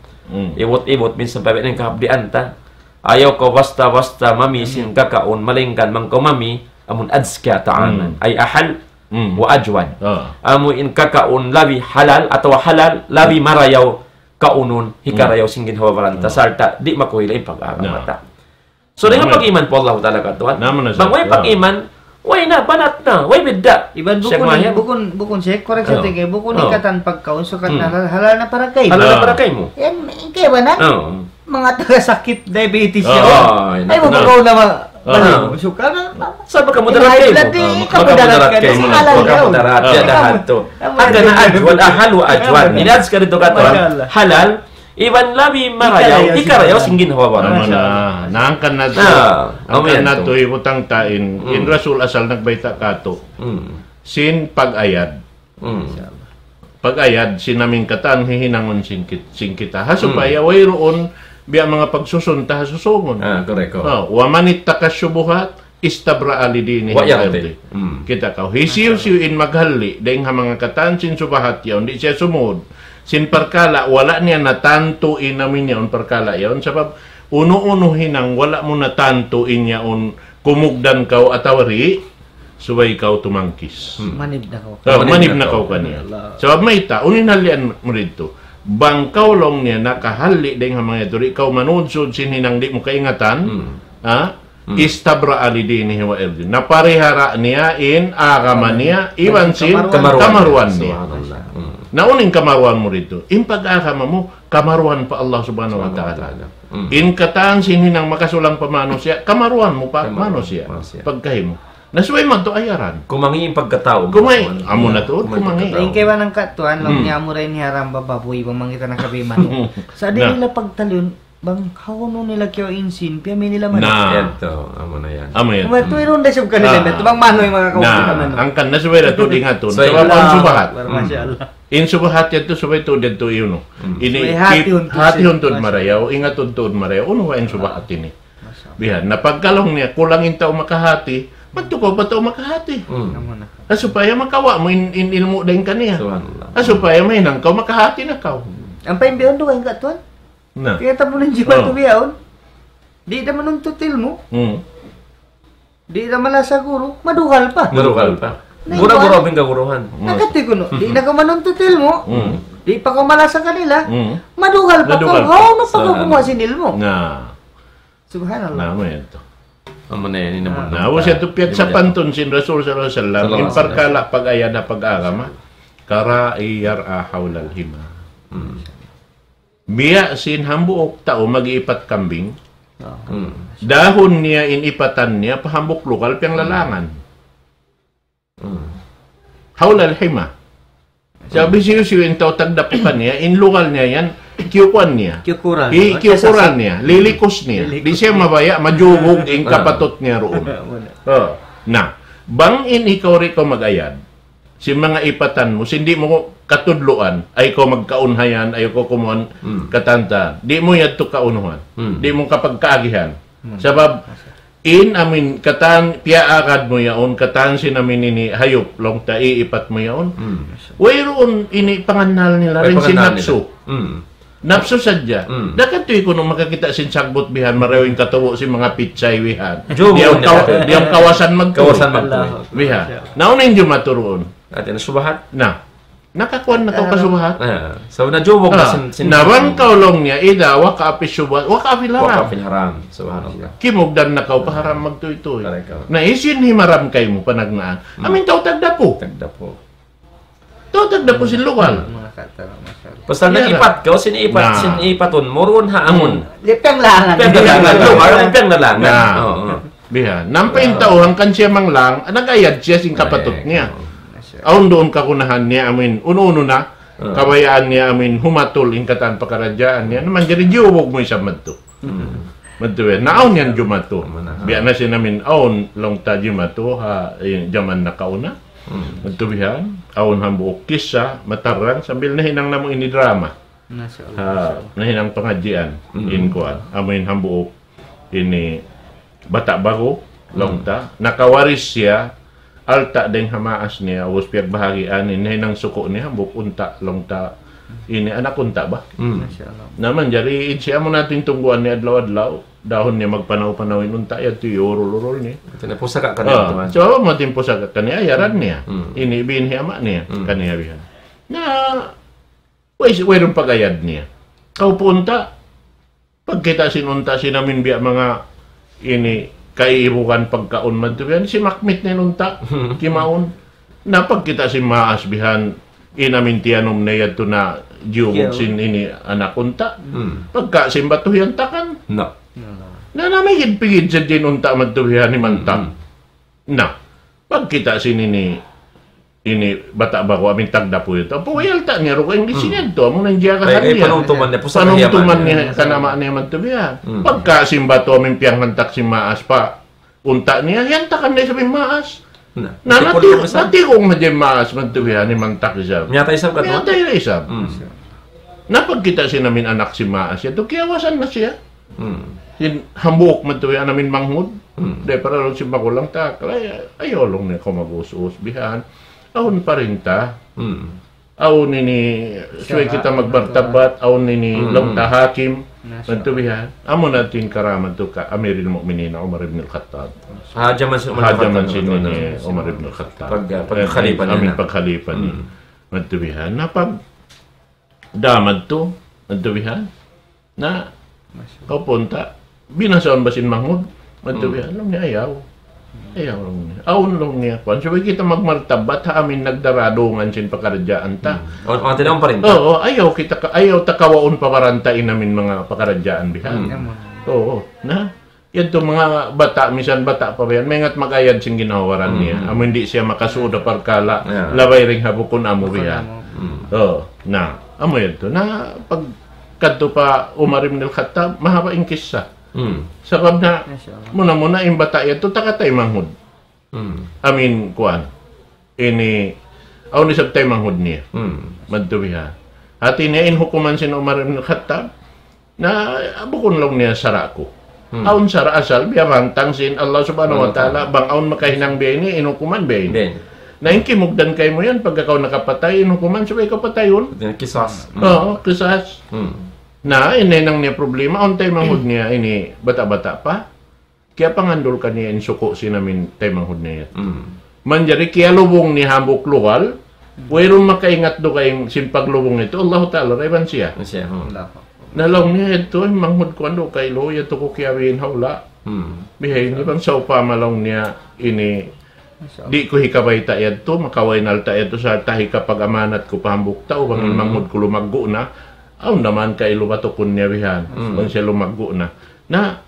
ibut-ibut, minsan pa biya' na in kahapdian ta. Ayaw kaw basta-basta mami sin kakaun, malaingkan bang kaw mami, amun أزكى طعاما. Mm. أي أحل Mm. وأجود. Ah. Amu in kakaun labi halal atawa halal, labi marayaw kaunun, hikarayaw sin ginhawa-baran ta, sarta' di' makuhila' in pag-agama ta. So, dayn ha pag-iman pa Allahu Ta'ala katuan. Bang way pag-iman, way na, banat na, way bidda'. Iban bukun, bukun, bukun, Sheikh, correct sa tingin, bukun in katan pagkaun, sukat na halal, halal na para kaymu. Halal na para kaymu. Yan, kaya ba na? Oo. Manga taga sakit diabetes yan. Ay, ay, naku na. Ay, mabagaw na ma-, balik mo. Suka na. Sa' makamudarat kaymu. High blood, eh, makamudarat kaymu. Kasi halal yan. Makamudarat. Yan, lahat to. Hangkan na ajwad, ahal wa ajwad. Ini adz ka dito katuan. Masha Allah. Halal. Iban labi marayaw, hikarayaw sin ginhawa-baran. Masha Allah. Na, hangkan na to. Hangkan na to, ibutang ta in. In Rasul asal nagbayta' katu'. Sin pag-ayad. Mm. Pag-ayad, sin amu in katan hihinangun sin kit-, sin kita. Ha, supaya wayruun biya' manga pagsusun ta ha susungun. Ah, correct, oh. Ah, ومن اتقى الشبهات استبرأ لدينه وعرضه. Mm. Kita' kaw. Hisiyu-siyu in maghalli' dayn ha manga katan sin subahat yaun, di' siya sumud sin parkala', wala' niya natantu in amu in yaun parkala' yaun. Sabab, unu-unu hinang wala' mu natantu in yaun, kumugdan kaw atawa di', subay kaw tumangkis. Hmm. Manib na kaw. Ah, manib na kaw kaniya. Allah. Sabab mayta', unu in halian mu didtu. Bang kaw laung niya nakahalli' dayn ha manga yadtu, di' kaw manudsud sin hinang di' mu kaingatan, ha? استبرأ لدينه وعرضه. Naparihara niya in agama niya, iban sin kamaruan niya. Subhanallah. Hmm. Na unu in kamaruan mu didtu? In pag-agama mu, kamaruan pa Allah Subhanahu wa Ta'ala. Hmm. In katan sin hinang makasulang pa manusiya', kamaruan mu pa manusiya'. Pagkahi mu. Na subay madtu ayaran. Kumangi' in pagkatau. Kumangi'. Amu na tuud, kumangi'. Laung kaibanan katuan, laung niya amu ra in hiyaram bababuy, bang mangita na kabiman. Sa' di' nila pagtalun, bang hawnu nila kiyawa' in sin, piyami nila man. Na. Yan to, amu na yan. Amu yan. Kuma tuwi' run da siyab kanila, na. Bang manu in manga kawang kita manu. Hangkan na subay da tuud ingatun. Subay. Sabab in subahat. Masha Allah. In subahat yadtu subay tuud yadtu iyunu. Hmm. Ini subay hatihun tuud marayaw, ingatun tuud marayaw. Unu ba in subahat ini? Bihan, na pagka laung niya, kulang in tau makahati, madtu kaw pa tau makahati. Hmm. Ah, supaya makawa' mu in, in ilmu' dayn kaniya. Subhanallah. Ah, supaya mahinang kaw, makahati na kaw. Ampa in bihaun dugaing katuan? Na. Kaya tamu nang jiwa tu bihaun. Di' da manuntut ilmu'. Hmm. Di' da malasa guru, madugal pa. Madugal pa. Na gura-gura iban, pingkaguruhan. Nakati kunu', di' na kaw manuntut ilmu'. Hmm. Di' pa kaw malasa kanila. Hmm. Madugal pa kaw. Madugal pa. Hawnu pa kaw kumuha' sin ilmu'? Na. Subhanallah. Na, amu yan to. Amu na yan, ini namun. Na, ubus yadtu piyagsapan tuud sin Rasul sallallahu alayhi wasallam, in parkala' pag-ayad ha pag-agama, كراعي يرعى حول الحمى. Biya' sin hambuuk tau mag-iipat kambing, dahun niya in ipatan niya pa hambuuk lugal piyanglalangan. حول الحمى. Sabab hisiyu-siyu in tau tagdapu kaniya, in lugal niya yan, kiyukuan niya. Kiyukuran. Kiyukuran niya, lilikus niya. Di' siya mabaya', majubug in kapatut niya duun. Na, bang in ikaw di' kaw mag-ayad sin manga ipatan mu, sin di' mu katudluan, ayaw kaw magkaun hayan, ayaw kaw kumuan katan ta. Di' mu yadtu kaunuhan. Di' mu kapagkaagihan. Sabab, in amin katan piyaagad mu yaun, katan sin amin ini hayup, laung ta iipat mu yaun. Wayruun ini pangannal nila, dayn sin napsu. Napsu sadja. Da katu' kunu' makakita' sin sagbut bihan, marayaw in katubu' sin manga pitsay bihan. Diyaw kawasan magtuy. Kawasan magtuy. Bihan. Na unu in jumatu duun? Ati na subahat. Na. Nakakuan na kaw kasubahat. Na, so, najubug na sin, sin. Na bang kaw laung niya, إذا وقع في الشبهات وقع في الحرام. Waqa'a fil haram. Subhanallah. Kimugdan na kaw pa haram magtuytuy. Na hisiyu in himaram kaymu panagnaan? Amu in tau tagdapu. Tagdapu. Tau tagdapu sin lugal. Pasal nag-ipat kaw, sin ipat, sin ipatun mu duun ha amun. Di' piyanglalangan. Piyanglalangan. Lugal, piyanglalangan. Na. Bihan. Nampa in tau, hangkan siya manglang, nag-ayad siya sin kapatut niya. Awn duun kagunahan niya, amin, unu-unu na, kabayaan niya, amin, humatul in katan pakaradjaan niya, na manjari jiyubug mu isab madtu. Madtu bihan, na awn yan jumatu. Biya' na sin amin, awn laung ta jumatu, ha, eh, jaman nakauna. Madtu bihan, awn hambuuk kissa, matarrang, sambil nahinang namu' ini drama. Ha, nahinang pangadjian, in kuan, amin hambuuk ini bata' ba'gu, laung ta, nakawaris siya, alta' dayng ha maas niya, ubus piyagbahagian, in nahinang suku' niya, hambuuk unta', laung ta, ini anak unta' ba? Na manjari, in siya mu natin tungguan niya adlaw-adlaw, dahun niya magpanaw-panaw in unta', yadtu iyurul-urul niya. Ati na pusaka kaniya, tuan. So, amu in pusaka kaniya, ayaran niya. Ini biin hi ama' niya, kaniya bihan. Na, way, wayruun pag-ayad niya. Kaw pa unta', pagkita' sin unta', sin amin biya' manga ini kaibugan pagkaun madtu bihan, simakmit na in unta', kimaun. Na pagkita' sin maas bihan, in amin tiyanum na yadtu na jiyubug sin ini anak unta'. Pagka sin batu hiyantakan. Na, na migid-pigid sadja in unta' madtu bihan himantak. Na, pagkita' sin ini, ini bata' ba'gu amin tagdapu yadtu. Apu, way alta' niya dugaing di' sin yadtu, amu na in jiyagahan niya. Panumtuman niya, pusaka niya. Panumtuman niya kan ama' niya madtu bihan. Pagka sin batu amin piyanghantak sin maas pa unta' niya, hiyantakan na isab in maas. Na, natigong na in maas madtu bihan, himantak isab. Miyatay isab katu'? Miyatay na isab. Na pagkita' sin amin anak sin maas yadtu, kiyawasan na siya. Sin hambuuk madtu bihan amin manghud. Dayn para laung sin magulang ta, kala, ayaw laung niya kaw mag-us-us bihan. Awn parinta. Awn ini, subay kita magmartabat, awn ini, laung ta hakim. Madtu bihan. Amu na in karamat tu ka Amiril Mu'minin Umar ibn al-Khattab. Ha jaman sin Umar ibn al-Khattab. Pag, pag khalifa niya. Amin pag khalifa niya. Madtu bihan. Na pag da madtu, madtu bihan. Na, kaw pa unta', binasaun ba sin manghud? Madtu bihan, laung niya ayaw. Ayaw laung niya. Awn laung niya kuan. Subay kita magmartabat ha amin nagdaradungan sin pakaradjaan ta. Oo, ayaw kita ka, ayaw ta kawaun pa baran ta in amin manga pakaradjaan bihan. Oo, na. Yadtu manga bata', misan bata' pa bihan, maingat mag-ayad sin ginhawa-baran niya. Amu in di' siya makasud ha parkala', labay dayn ha bukun amu bihan. Oo, na, amu yadtu. Na, pagkadtu pa Umar ibn al-Khattab, mahaba' in kissa. Sabab na, muna-muna in bata' yadtu, taga taymanghud. Amin, kuan. Ini, awn isab taymanghud niya. Madtu bihan. Hati niya in hukuman sin Umar ibn Khattab, na, bukun laung niya sara' ku. Awn sara' asal, biya' bantang sin Allah Subhanahu wa Ta'ala, bang awn makahinang biya' ini, in hukuman biya' ini. Na, in kimugdan kaymu yan, pagka kaw nakapatay, in hukuman subay kaw patayun. Qisas. Oo, qisas. Na, in nahinang niya problema, awn taymanghud niya, ini bata'-bata' pa. Kiyapangandul kaniya in suku' sin amin taymanghud niya yadtu. Manjari kiyalubung niya hambuuk lugal, wayruun makaingat dugaing sin paglubung yadtu, Allahu Ta'ala, da iban siya. Na laung niya yadtu, manghud ku andu' kailu, yadtu ku kiyabihin ha hula'. Bihaini bang sawpama laung niya ini, di' ku hikabayta' yadtu, makaway na alta' yadtu, sarta' hikapag-amanat ku pa hambuuk tau, bang in manghud ku lumaggu' na, awn naman kailu batukun niya bihan, bang siya lumaggu' na. Na,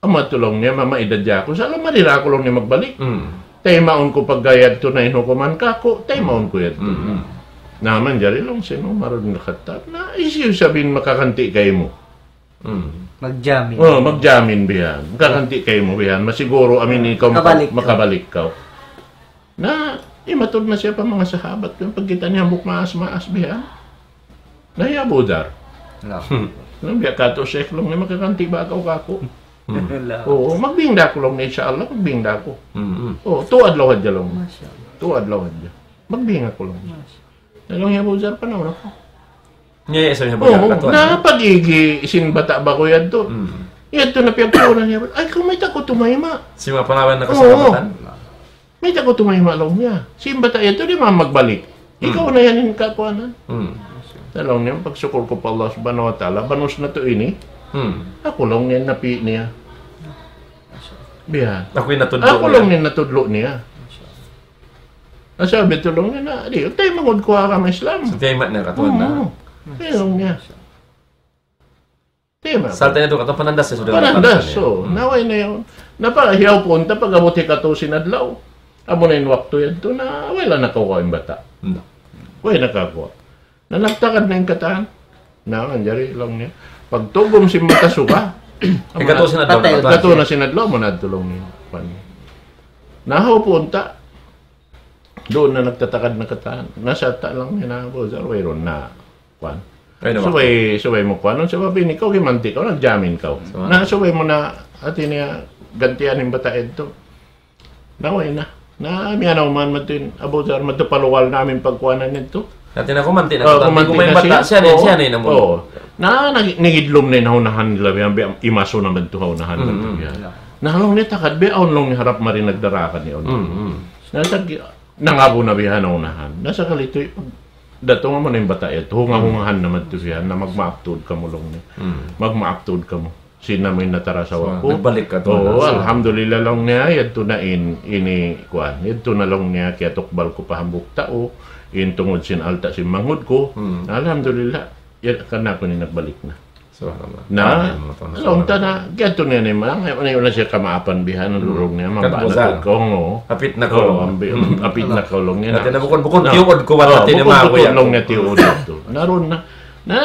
amu yadtu laung niya, mamaidad ja aku, sa' laung mari ra aku laung niya magbalik. Taymaun ku pagga yadtu na in hukuman kaku', taymaun ku yadtu. Na manjari laung sin Umar bin Khattab, na hisiyu isab in makaganti' kaymu. Magjamin. Oh, magjamin bihan. Kaganti' kaymu bihan. Masiguru amin ikaw maka-, makabalik kaw. Na, imatud na siya pa manga sahabat. Kaya pagkita' niya hambuuk maas-maas bihan. Na, ya Abu Dhar. Laung biya' katu' Sheikh laung niya makaganti' ba kaw kaku'. Oo, magbing da aku laung niya, insya Allah, magbing da aku. Oo, tu adlaw hadja laung. Tu adlaw hadja. Magbing aku laung. Laung niya Abu Dhar, panaw na aku. Nya, ya, sa' niya Oo, bagay katuan, na ha? Pag-igi sin bata' ba ku yadtu. Yadtu na piyagkunan niya. Ay, kaw mayta' kaw tumayma'. Sin manga panaw yan na kasabatan? Mayta' kaw tumayma' laung niya. Sin bata' yadtu di' man magbalik. Ikaw na yan in kakuanan. Na laung niya, pagsukul ku pa Allah Subhanahu wa Ta'ala, banus na tuud ini. Aku laung niya in napi' niya. Biya'. Aku in natudlu' niya. Aku laung niya in natudlu' niya. Asa bitu laung niya na, di', taymanghud ku ha agama Islam. So, tayma' na katuan na. Oo. Taymanghud niya. Tayma'. Sarta' niya tu katuan, panandas siya sudah. Panandas, so. Na way na yan. Na pa, hiyaw punta, pag-abut hikatu sin adlaw. Amu na in waktu yadtu na, way na nakakuha in bata'. Way nakakuha. Na nagtagad na in katan. Na, manjari laung niya. Pagtugum sin mata suga. Hikatu sin adlaw, patay. Hikatu na sin adlaw, manadtu laung niya. Kuwan. Na, hawpu unta. Duun na nagtatagad na katan. Na, sa' ta laung niya na, Abu Dhar, wayruun na. Kuwan. Subay, subay mu kuwan. Sabab ini kaw, kimanti' kaw, nagjamin kaw. Na, subay mu na, hati niya, gantian in bata' yadtu. Na, way na. Na, miyanaw man madtu in Abu Dhar, madtu pa lugal namin pagkuanan yadtu. Hati na kumanti' na. Oh, kumanti' na siya. Siya na, siya na in amun. Oo. Na, nag-, nangidlum na in ha unahan nila, biya', biya', imasu na madtu ha unahan madtu, biya'. Na, laung niya takad, biya', awn laung niya harap mari nagdarakan niya. Na, tag-, nangabu na biya' ha unahan. Na, sakali tuud, datung amu na in bata' yadtu, hunga-hungahan na madtu biya', na magmaap tuud kamu laung niya. Magmaap tuud kamu. Sin amu in natarasawa ku. Nagbalik katu'. Oo, alhamdulillah laung niya, yadtu na in, ini, kuwan, yadtu na laung niya, kiyatukbal ku pa hambuuk tau, in tungud sin alta' sin manghud ku. Alhamdulillah, ya, kanaku ini nagbalik na. Subhanallah. Na, laung ta na, kiyadtu niya na in manga, na, na siya kamaapan bihan, laung niya, mabana ku, oo. Hapit na kaw. Oo, hapit na kaw laung niya. Hati na bukun, bukun tiyuud ku, bukun tiyuud laung niya tiyuud yadtu. Na, duun na. Na,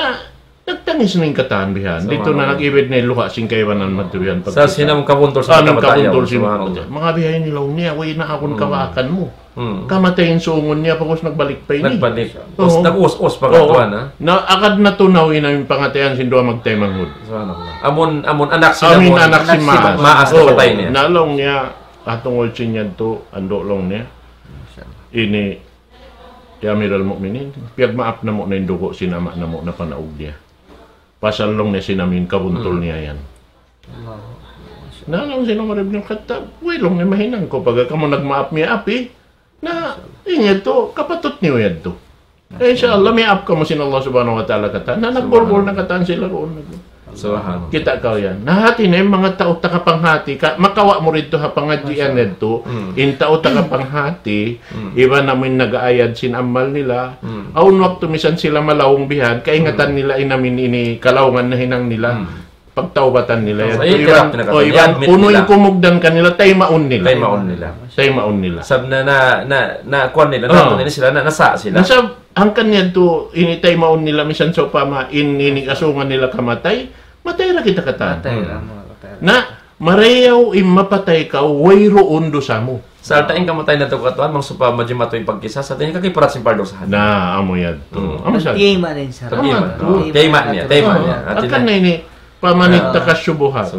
nagtangis na in katan bihan. Didtu na nag-ibid na in luha' sin kaibanan madtu bihan. Sa' sin amun kabuntul sin manga bihan ini laung niya, way na aku in kawaakan mu. Kamatay in sungun niya, pag'ubus nagbalik pa ini. Nagbalik. Nag-us-us pa katuan, ha? Na, agad na tunaw in amu in pangatayan sin duwa magtaymanghud. Subhanallah. Amun, amun anak sin, amun anak sin maas. Maas na patay niya. Na laung niya, tungud sin yadtu, andu' laung niya. Ini, ya Amiral Mukminin, piyagmaap namu' na in dugu' sin ama' namu' na panaug niya. Pasal laung niya sin amu in kabuntul niya yan. Na, laung sin Umar ibn Khattab, way laung niya mahinang ku, pagka kamu nagmaap miyaap, na, in yadtu, kapatut niyu yadtu. Eh, insya Allah, miyaap kamu sin Allah Subhanahu wa Ta'ala katan. Na, nagbulbul na katan sila duun. Subhanallah. Kita' kaw yan. Na, hati na in manga tau takapanghati, ka, makawa' mu didtu ha pangadjian yadtu, in tau takapanghati, iban amu in nag-aayad sin amal nila, awn waktu misan sila malaung bihan, kaingatan nila in amu in ini kalaungan nahinang nila. Pagtaubatan nila yan. Iban, o, iban, unu in kumugdan kanila, taymaun nila. Taymaun nila. Taymaun nila. Sab na, na, na, na, kuwan nila, na, na, sila, na, nasa' sila. Nasa', hangkan yadtu, ini taymaun nila, misan sawpama, in, ini kasungan nila kamatay, matay ra kita katan. Matay ra, matay ra. Na, marayaw in mapatay kaw, wayruun dusa mu. Sarta' in kamatay natu' katuan, bang sawpama jimatu in pagkisas, hati niya kakiparat sin pardusahan. Na, amu yadtu. Amu sa. Tayma' niya, tayma' niya. Hati niya. Hangkan na ini, فمن اتقى الشبهات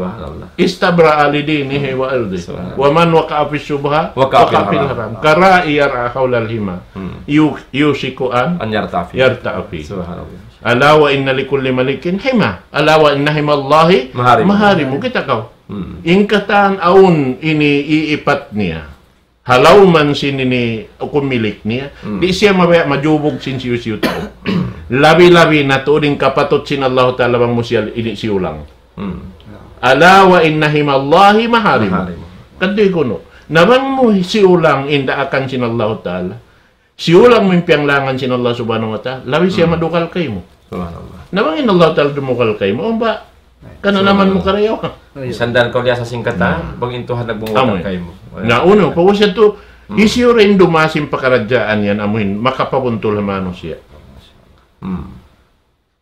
استبرأ لدينه وعرضه ومن وقع في الشبهة وقع في الحرام كالراعي يرعى حول الحمى يوشك أن يرتع فيه. ألا وإن لكل ملك حمى ألا وإن حمى الله محارمه. Kita' kaw. In katan awn ini iipat niya. Ha lawm sin ini hukum milik niya. Di' siya mabaya' majubug sin hisiyu-siyu tau. Labi-labi na tuud in kapatut sin Allahu Ta'ala bang mu siya ini siyulang. ألا وإن حمى الله محارمه. Maharimu. Kadi kunu'. Na bang mu siyulang in daakan sin Allah Ta'ala. Siyulang mu in piyanglangan sin Allah Subhanahu wa Ta'ala. Labi siya Hmm. madukal kaymu. Subhanallah. Na bang in Allah Ta'ala dumukal kaymu. Umba, kananaman mu Subhanallah. karayaw. Misan da kaw liyasa sin katan, Hmm. bang in Tuhan nagbungkal Amu. kaymu. Na unu, pag-ubus yadtu, Hmm. hisiyu ra in dumasin pakaradjaan yan, amuin, makapabuntul ha manusiya'. Hmm.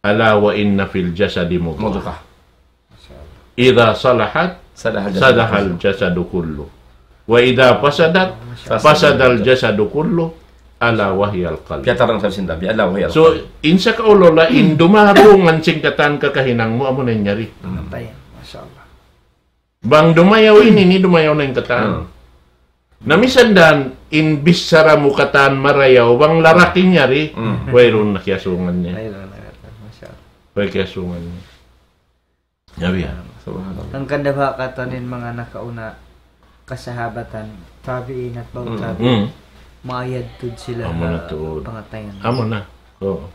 ألا وإن في الجسد مضغة. مضغة. إذا صلحت صلح الجسد صلح كله. الجسد كله. وإذا فسدت فسد فسد الجسد كله. ألا وهي القلب. Piyatarang sa sin Nabi, ألا وهي So, القلب. In sa kaulula, in dumarungan sin katan kakahinang mu, amu na in yari. Hmm. Patay. Masha Allah. Bang dumayaw ini, ini dumayaw na in katan. Hmm. Na misan da in bichara mu katan marayaw, bang lalaki' in yari, Hmm. wayruun na kiyasungan niya. Ay, wala na. Masha Allah. Way kiyasungan niya. Yabi ha. Subhanallah. Hangkan da ba katan in manga nakauna kasahabatan, tabi'in at ba'u Hmm. tabi'in. Hmm. Maayad tuud sila Amu na ha tuud. pangatayan. Amu na. Oo.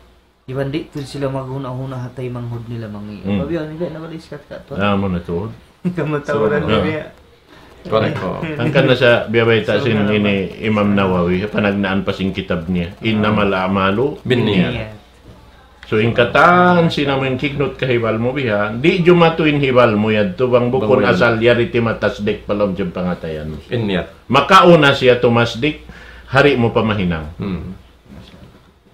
Iban di' tuud sila maghuna-huna ha taymanghud nila mangi'. Hmm. Pabiyaw nila na wala' iskat ka tuud. Amu na tuud. Kamatauran Subhanallah. nila. Correct, oo. Hangkan na sa biyabayta' sin Subhanallah. ini Imam Nawawi, panagnaan pa sin kitab niya. إنما الأعمال بالنيات. Niyat. So, in katan sin amu in kignut kahibal mu biha, di' jumatu in hibal mu yadtu bang bukun Bang asal yari timatasdik pa lawm sin pangatayan mu. In niyat. Makauna siya tumasdik, hari mu pa mahinang. Hmm.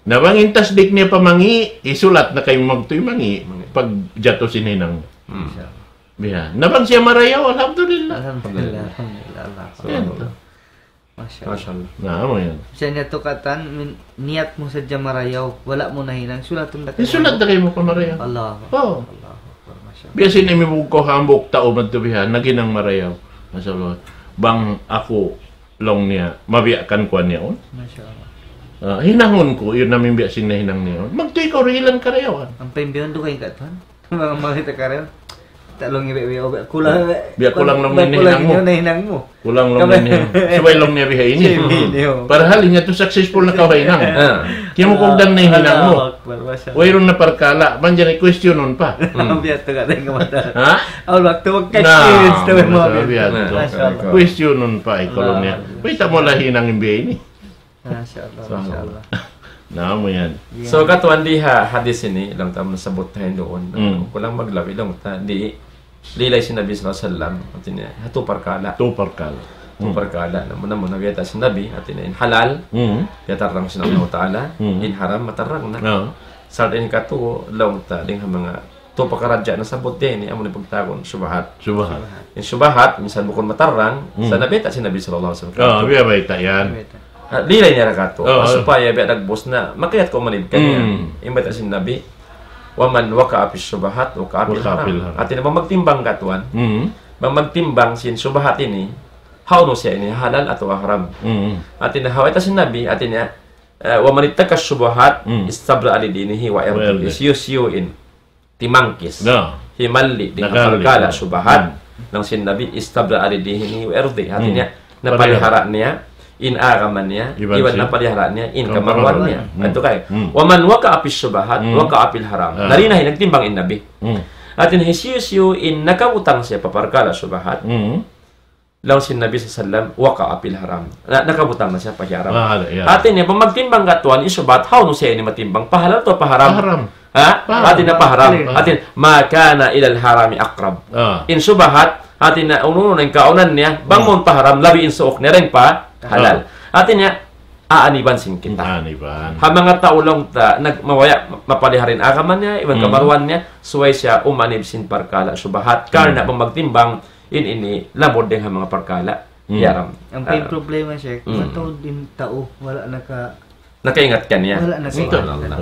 Na bang in tasdik niya pa mangi', isulat na kaymu magtuy mangi', Mangi'. pagjatu sin hinang. Hmm. Biha. Na bang siya marayaw, alhamdulillah. Alhamdulillah, alhamdulillah. Yan. Masha Allah. Masha Allah. Na, amu yan. Misan yadtu katan, min-, niyat mu sadja marayaw, wala' mu nahinang, sulatun da kaymu. Isulat da kaymu pa marayaw. Allah. Oh. Allahu Akbar, masha Allah. Biya' sin imibug ku hambuuk tau madtu biha, naghinang marayaw. Masha Allah. Bang aku laung niya, mabiya' kan kuwan niya yaun. Masha Allah. Ah, hinangun ku, yun na in biya' sin nahinang niya yaun. Magtuy kaw dihilan karayawan. Ampa in biya' dugaing ka tuwan. Manga makita' karayaw. Ta' laung niya biya', biya', biya', kulang, Biya' kulang laung biya' niya kulang hinang mu. niya nahinang mu. Kulang laung Kami- niya hinang. Subay laung niya biha ini. Siya ini, oh. Parahal in yadtu successful na kaw ha hinang. Ah. Kimukugdan na in hinang mu. Allahu Akbar, masha Allah. Wayruun na parkala', manjari questionun pa. Hmm. Biya' tu ka tayo kamata. Ha? Aw, waktu Na, mag-experience tu, masha Allah, biya' tu. Masha Allah. Questionun pa, ikaw laung niya. Allahu Akbar. Wait, amo la hinang in biya' ini. Masha Allah, masha Allah. Na, amu yan. Yan. So, katuan di ha hadis ini, laung ta nasabbut tayo duun. Hmm. Kulang maglabi, laung ta, di, lilay sin Nabi sallallahu alayhi wasallam, hati niya, ha tū parkala'. Tū parkala'. Tū Hmm. parkala'. Na muna-muna, biyayta' sin Nabi, hati niya, in halal, Hmm. biya' tarrang sin Allah Ta'ala, Hmm. in haram, matarrang na. Ah. Sa' in katu, laung ta, dayn ha manga tū pakaradjaan nasabbut niya ini, amu in pagtawagun, shubahat. Shubahat. In shubahat, minsan bukun matarrang, Hmm. sa' nabiyayta' sin Nabi sallallahu alayhi wasallam. Ah, biya' bayta' yan. Biyayta'. Ah, lilay niya ra katu'. Ah, ah. Supaya biya' dagbus na, makayat kaw manib kaniya. Hmm. In bayta' sin Nabi, ومن وقع في الشبهات وقع في الحرام. وقع في الحرام. Hati niya, bang magtimbang katuan. Hmm. Bang magtimbang sin shubahat ini, hawnu siya ini, halal atawa haram. Hmm. Hati niya, ha bayta' sin Nabi, hati niya, eh, ومن اتقى الشبهات Hmm. استبرأ لدينه وعرضه. وعرضه. Hisiyu-siyu in timangkis. Na. Himalli' dayn ha Nakalli', parkala' na. shubahat. Hmm. Laung sin Nabi, استبرأ لدينه وعرضه. Hati Hmm. niya, napalihara niya in agama niya, Iban iban sin napalihara niya in kamaruan niya. Hmm. Atu kay, Hmm. ومن وقع في الشبهات Hmm. وقع في الحرام. Ah. Dari na in nagtimbang in Nabi. Hmm. Hati niya hisiyu-siyu in nakabutang siya pa parkala' shubahat. Hmm. Laung sin Nabi sallallahu alayhi wasallam, وقع في الحرام. Na, nakabutang na siya pa haram. Ah, ya. Hati niya, bang magtimbang katuan, in shubahat, hawnu siya ini matimbang? Pa halal atawa pa haram? Pa haram. Ha? Pa haram. Hati niya pa haram. Clear. Hati niya, ما كان إلى الحرام أقرب. Ah. In shubahat, hati niya, unu-unu na in kaunan niya, bang Hmm. mawn pa haram, labi in suuk niya dayn pa halal. Ah. Hati niya, aaniban sin kita. Aaniban. Ha manga tau laung ta, nag-, mabaya', mapalihara in agama niya, iban Hmm. kamaruan niya, subay siya umanib sin parkala' shubahat. Karna' Hmm. bang magtimbang, in ini, lamud dayn ha manga parkala', Hmm. haram. Ang Ah. problema, Sheikh, Hmm. mataud in tau, wala' naka-, Nakaingat kaniya. Wala' nakaingat. Subhanallah.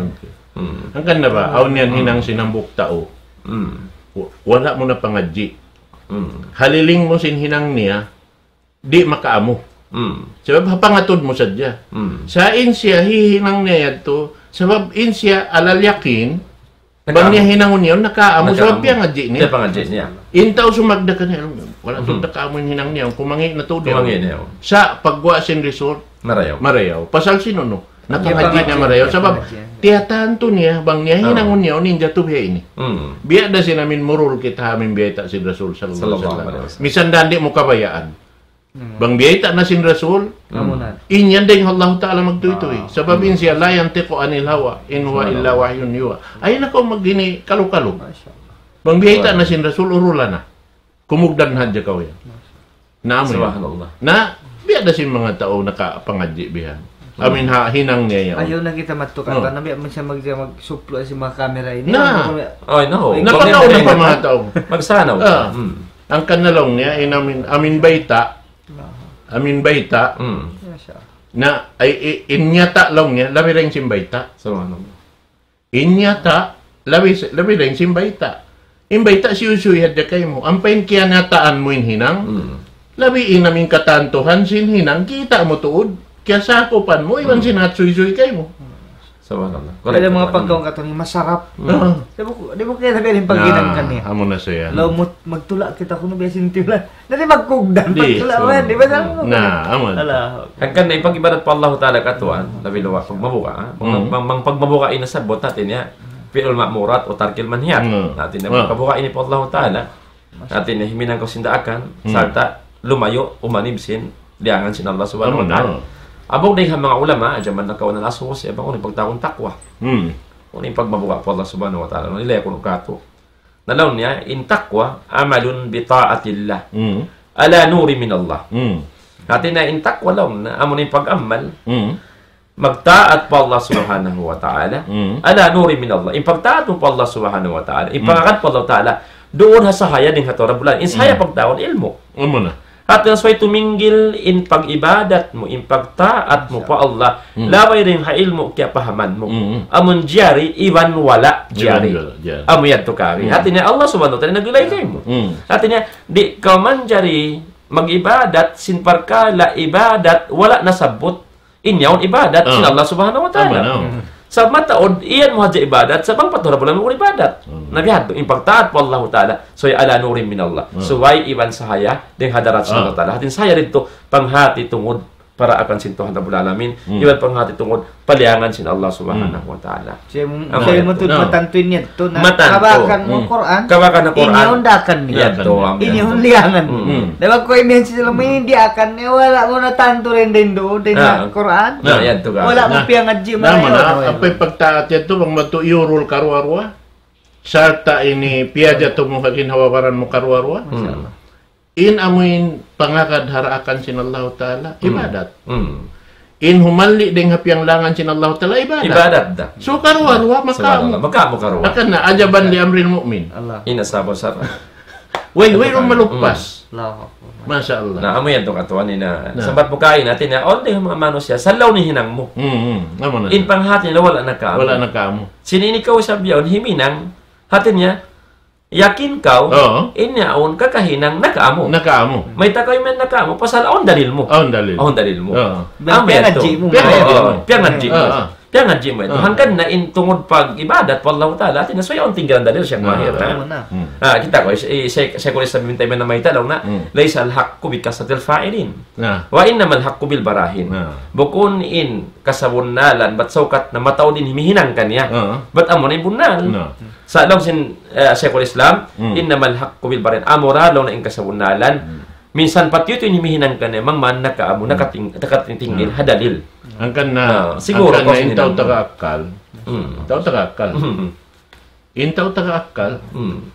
Hmm. Hangkan na ba, awn yan Hmm. hinang sin hambuuk tau. Hmm. Wa-, wala' mu na pangadji'. Hmm. Haliling mu sin hinang niya, di' makaamu. Hmm. Sabab ha pangatud mu sadja. Hmm. Sa' in siya hihinang niya yadtu, sabab in siya alal yakin, Bang niya hinangun niya, nakaamu, sabab piyangadji' niya. Piyangadji' niya. In tau sumagda kaniya, wala' tuud nakaamu in hinang niya, kumangi' na tuud niya. Kumangi' niya. Sa' pagguwa' sin result, marayaw. Marayaw. Pasal sin unu? Napangadji' niya marayaw. Sabab, tiyatantu niya, bang niya hinangun niya, unu in jatu biya' ini. Hmm. Biya' da sin amin murul kita amin biyayta' sin Rasul sallallahu alayhi wasallam. Misan da di' mu kabayaan. Hmm. Bang biyayta' na sin Rasul, in yan dayn ha Allah Ta'ala magtuytuy. Sabab in siya, لا ينطق عن الهوى إن هو إلا وحي يوحى. Ayaw na kaw mag-ini kalu-kalu. Masha Allah. Bang biyayta' na sin Rasul, urulan na. Kumugdan hadja kaw yan. Na amu yan. Subhanallah. Na, biya' da sin manga tau nakapangadji' bihan. Amin ha, hinang niya yan. Ayaw na kita matukan. Oh. Karna' biya' man siya mag-, magsuplu sin manga camera ini. Na. Ay, no. Napakauna pa manga tau. Magsanaw. Ah. Hmm. Hangkan na laung niya, in amin, amin bayta'. Amin bayta'. Hmm. Masha Allah. Na, ay, i-, in nyata' laung niya, labi dayn sin bayta'. Subhanallah. In nyata', labi, labi dayn sin bayta'. In bayta' siyusuy hadja kaymu. Ampa in kiyanataan mu in hinang, hmm, labi in amin katantuhan sin hinang, kita' mu tuud, kiyasakupan mu, iban sin hat suysuy kaymu. Subhanallah. Kaya manga pagkaun katu' ini masarap. Hmm. Ah. Di' mu, di' mu kaya sabihan in paghinang kaniya. Amu na siya. Laung mu, magtula' kita kunu' biya' sin tula'. Na di' magkugdan, di', magtula' man, di' ba? Na, amu na. Allahu Akbar. Hangkan na in pag-ibadat pa Allah Ta'ala katuan, labi luwa' pagmabuga', ha? Bang, bang, bang pagmabuga' in nasabbut natin niya, فعل المأمورات وترك المنهيات. Hmm. Natin niya, pagmabuga' ini pa Allah Ta'ala. Natin niya, himinang kaw sin daakan, sarta' lumayu', umanib sin liyangan sin Allah Subhanahu wa Ta'ala. Amu na. Abu dayn ha manga ulama, jaman nakauna na asusi, bang unu in pagtawagun takwa. Hmm. Unu in pagmabuga' pa Allah Subhanahu wa Ta'ala. Unu in ilay kunu' katu'. Na laung niya, in takwa, عمل بطاعة الله. Hmm. على نور من الله. Hmm. Hati niya in takwa laung niya, amu in pag-amal, hmm, magtaat pa Allah Subhanahu wa Ta'ala. Hmm. على نور من الله. In pagtaat mu pa Allah Subhanahu wa Ta'ala. In, hmm, pangagad pa Allah Ta'ala. Duun ha sahaya dayn ha Tuhan Rabbul Alamin. In sahaya, hmm, pagtawagun ilmu'. Amu na. Hati niya subay tuminggil in pag-ibadat mu, in pagtaat mu pa Allah, hmm, labay dayn ha ilmu' kiyapahaman mu. Hmm. Amun jari, iban wala' jari. Iban wala' jari. Amu yadtu kari. Hmm. Hati niya Allah Subhanahu wa Ta'ala naglilay kaymu. Hmm. Hati niya, di' kaw manjari mag-ibadat sin parkala' ibadat wala' nasabbut in yaun ibadat sin Allah Subhanahu wa Ta'ala. Amu na. Sa' mataud, iyan mu hadja ibadat, sa' bang pa Tuhan Rabbul Alamin bukun ibadat. Hmm. Na biya' hadtu, in pagtaat pa Allah Ta'ala, subay على نور من الله. Hmm. Subay iban sahaya, dayn ha hadarat sin Allah Ta'ala. Hati niya sahaya didtu, panghati tungud, para akan sin Tuhan Rabbul Alamin, iban panghati tungud, pa liyangan sin Allah Subhanahu wa Ta'ala. Siya mu-, siya mu tuud matantu in yadtu na. Matantu. Kabakan mu Qur'an. Kabakan mu Qur'an. In yaun daakan niya. Yadtu, amu yadtu. In yaun liyangan. Hmm. Dayn ha kuwan in yaun sila mu in daakan niya, wala' mu na tantu dayn duun, dayn ha Qur'an. Na, yadtu ka. Wala' mu piyangadji' na, marayaw. Amu na, amu in pagtaat yadtu, bang madtu iyurul karuwa-ruwa. Sarta' ini piyajatu mu ha ginhawa-baran mu karuwa-ruwa. Masha Allah. In amu in pangagad ha daakan sin Allahu Ta'ala, ibadat. Hmm. In humalli' dayn ha piyanglangan sin Allahu Ta'ala, ibadat. Ibadat da. So, karuwa-ruwa, makamu. Subhanallah. Makamu karuwa. Hangkan na, عجبا لأمر المؤمن. Allah. Ina sabar, sabar. Way, way, malupas. Allahu Akbar. Masha Allah. Na, amu yan tu katuan ina. Na. Sambat bukain, hati niya, awn da in manga manusiya', sa' laung niya hinang mu. Hmm, hmm. Amu na. In panghati nila, wala' na kamu. Wala' na kamu. Sin ini kaw isab yaun, himinang, hati niya, yakin kaw, in yaun kakahinang nakamu. Nakamu. Mayta' kaw imiyan nakamu, pasal awn dalil mu. Awn dalil. Awn dalil mu. Oo. Amu yan tu. Piyangadji' mu. Piyangadji' mu. Oo, piyangadji' mu. Oo. Piyangadji' mu yan tu. Oo. Hangkan na in tungud pag-ibadat pa Allahu Ta'ala, hati niya, subay awn tinggalan dalil siya mahir, ha? Oo. Hmm. Ah, kita' kaw, i-, i-, Sheikh, Sheikhul Islam Ibn Taymiyyah namayta' laung niya, ليس الحق بكثرة الفاعلين. Na. وإنما الحق بالبراهين. Na. Bukun in kasabunnalan, bat saukat na mataud in himihinang kaniya. Oo. Bat amu na in bunnal. Na. Sa' laung sin, eh, Sheikhul Islam, hmm, إنما الحق بالبراهين. Amura laung niya in kasabunnalan. Hmm. Minsan pati yadtu in himihinang kaniya, bang man nakamu, hmm, nakating-, nakatingtingil, hmm, ha dalil. Hangkan na, ah, siguro hangkan na in tau taga akkal. Hmm. Tau taga akkal. Hmm. In tau taga akkal. Hmm.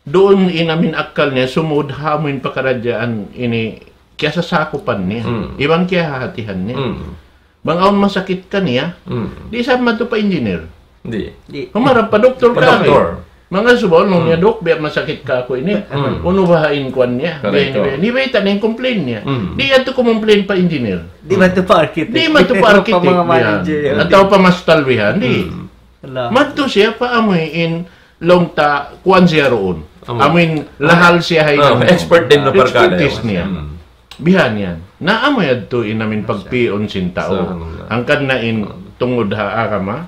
Duun in amin akkal niya, sumud ha amu in pakaradjaan ini kiyasasakupan niya. Hmm. Iban kiyahahatihan niya. Hmm. Bang awn masakit kaniya, hmm, di' sa madtu pa engineer. Di'. Di'. Humarap pa doktor kari. Pa doktor. Manga subaw, laung niya, hmm, "Dok, biya' masakit kaku' ini." Hmm. Unu baha' in kuwan niya? Correct. Biya' ini, biya' ini, biya' ini, in complain niya. Hmm. Di' yadtu kumomplain pa engineer. Di' madtu pa architect. Di' madtu pa architect. Pa manga manager. Atawa pa mastal bihan, di'. Hmm. Allah. Madtu siya pa amu in laung ta kuwan siya duun. Amu. Amu in lahal siya ha, oh, expert dayn ha parkala' yan. Expertise niya. Hmm. Bihan yan. Na amu yadtu in amin pagpi'un sin tau. Subhanallah. Hangkan na in tungud ha agama,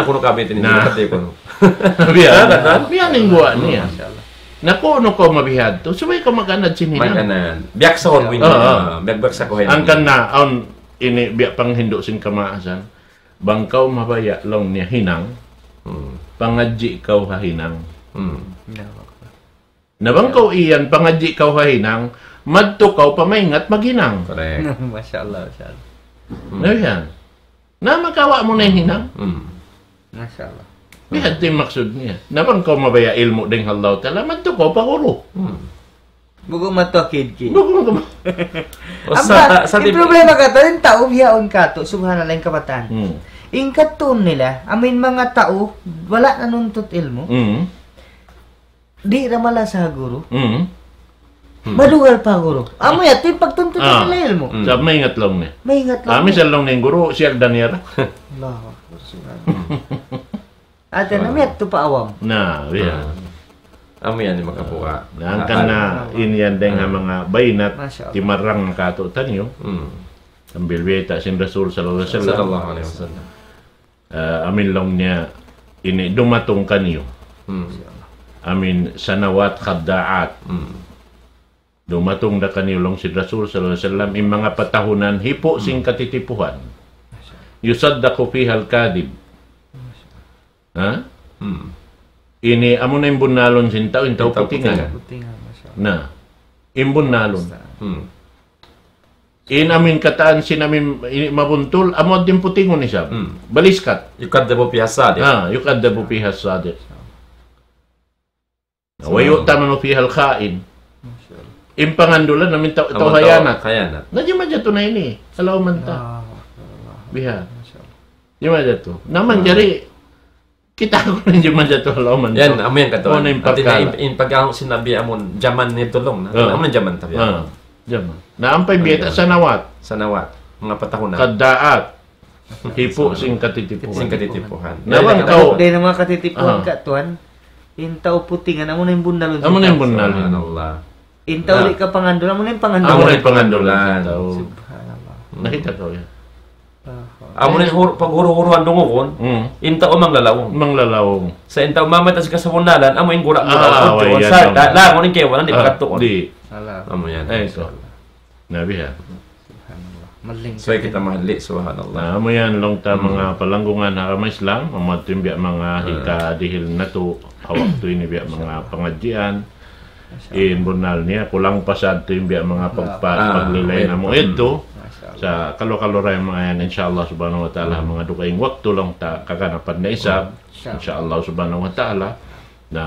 na kunu' kabit ini, Na. Pati kunu'. Biya'. Biya' na in guwa' niya. Masha Allah. Na kunu' kaw mabihadtu, subay kaw mag-anad sin hinang. Mag-anad. Biyaksahun mu ini. Oo. Ah, biyak-, biyaksahun ini. Hangkan na, awn ini biya' panghindu' sin kamaasan. Bang kaw mabaya' laung niya hinang, Hmm. pangadji' kaw ha hinang. Hmm. Allahu Akbar. Na bang kaw iyan, pangadji' kaw ha hinang, madtu kaw pa maingat maghinang. Correct. Masha Allah, masha Allah. Hmm. Na yan. Na makawa' mu na in hinang. Hmm. Masha Allah. Biya' hadtu in maksud niya. Na bang kaw mabaya' ilmu' dayn ha Allah Ta'ala, madtu kaw pa guru. Hmm. Bukun madtu ha kid-kid. Bukun ka ma- O, Amba, sa-, sa-, in problema katu', in tau bihaun katu', subhanallah, in kabatan. Hmm. In katu' nila, amu in manga tau, wala' nanuntut ilmu'. Hmm. Di' da malasa ha guru. Hmm. Hmm. Madugal pa guru. Amu yan, in pagtuntut Ah. nila ilmu'. Hmm. Sa' maingat laung niya. Maingat laung Ah, niya. Misan laung niya in guru, siya agdan niya ra. Allahu Akbar, subhanallah. Ate na miyadtu pa awam. Na, biya'. Ah. Amu yan in makabuga'. Na, hangkan na, Ah. in yan dayn ha Ah. manga bayinat, Masha Allah. timarang katu' taniyu. Hmm. Sambil biyayta' sin Rasul sallallahu alayhi wasallam. Sallallahu alayhi wasallam. Ah, amu in laung niya, ini dumatung kaniyu. Hmm. Amu in sanawat khadda'at. Hmm. Dumatung da kaniyu laung sin Rasul sallallahu alayhi wasallam, in manga patahunan hipu' sin Hmm. katitipuhan. يصدق فيها الكاذب. Ha? Hmm. Ini amu na in bunnalun sin tau, in tau In tau putingan. putingan. Putingan, masha Allah. Na, in bunnalun. Basta. Hmm. In amu in katān sin amu in ini mabuntul, amu in putingun isab. Hmm. Baliskat. يكذب فيها الصادق. Ah, يكذب فيها الصادق. ويؤتمن فيها الخائن. Masha Allah. In pangandulan amu in tau, tau Amu in tau hayanat. hayanat. Na jimajatu na ini. Allahu manta. Allahu Akbar, Allahu Akbar. Biha. Masha Allah. Jimajatu. Na manjari, kita' ku na jimajatu, Allahu manta. Yan, amu yan katu'. Amu na in Hāti niya parkala'. in, in pag-ahung sin Nabi amun jaman niya tulung na. Ah. Amun jaman tabi. Ah, jaman. Na ampa biya' ta Amun jaman. sanawat. Sanawat. Manga patahunan. Khadda'at. Hipu' sin katitipuhan. Sin katitipuhan. Na bang Yan, kaw Di' na manga katitipuhan Ah. ka, tuwan. In tau putingan, amu na in bunnalun. Amu na in bunnalun. Subhanallah. In tau Ah. di' ka pangandulan, amu na in pangandulan. Amu na in pangandulan. Tau. Subhanallah. Nakita' kaw yan. Ah. Amu na in hur-, paghuru-huruan dungugun, Hmm. in tau manglalaung. Manglalaung. Sa' in tau mamayta' sin kasabunnalan, amu in gura-gura. Ah, Sa' way yan, da-, tama. laung in kaibanan, di' Ah, makatuon. di'. Alam. Amu yan. Ay, ito. Na biha'. Subhanallah. Maling So, kita mahali, subhanallah. Na, amu yan, laung ta Hmm. manga palanggungan ha agama Islam, amu yadtu in biya' manga Ah. hikadihil natu', ha waktu ini biya' manga pangadjian. Masha Allah. In bunnal niya, kulang pa sa yadtu in biya' manga pagpa-, Ah, paglilay wait. na mu Hmm. yadtu. Masha Allah. Sa' kalu-kalu ra in manga yan, insha Allah subhanahu wa ta'ala, Hmm. manga dugaing waktu laung ta kaganapan na isab. Insha Allah. Insha Allah subhanahu wa ta'ala. Na,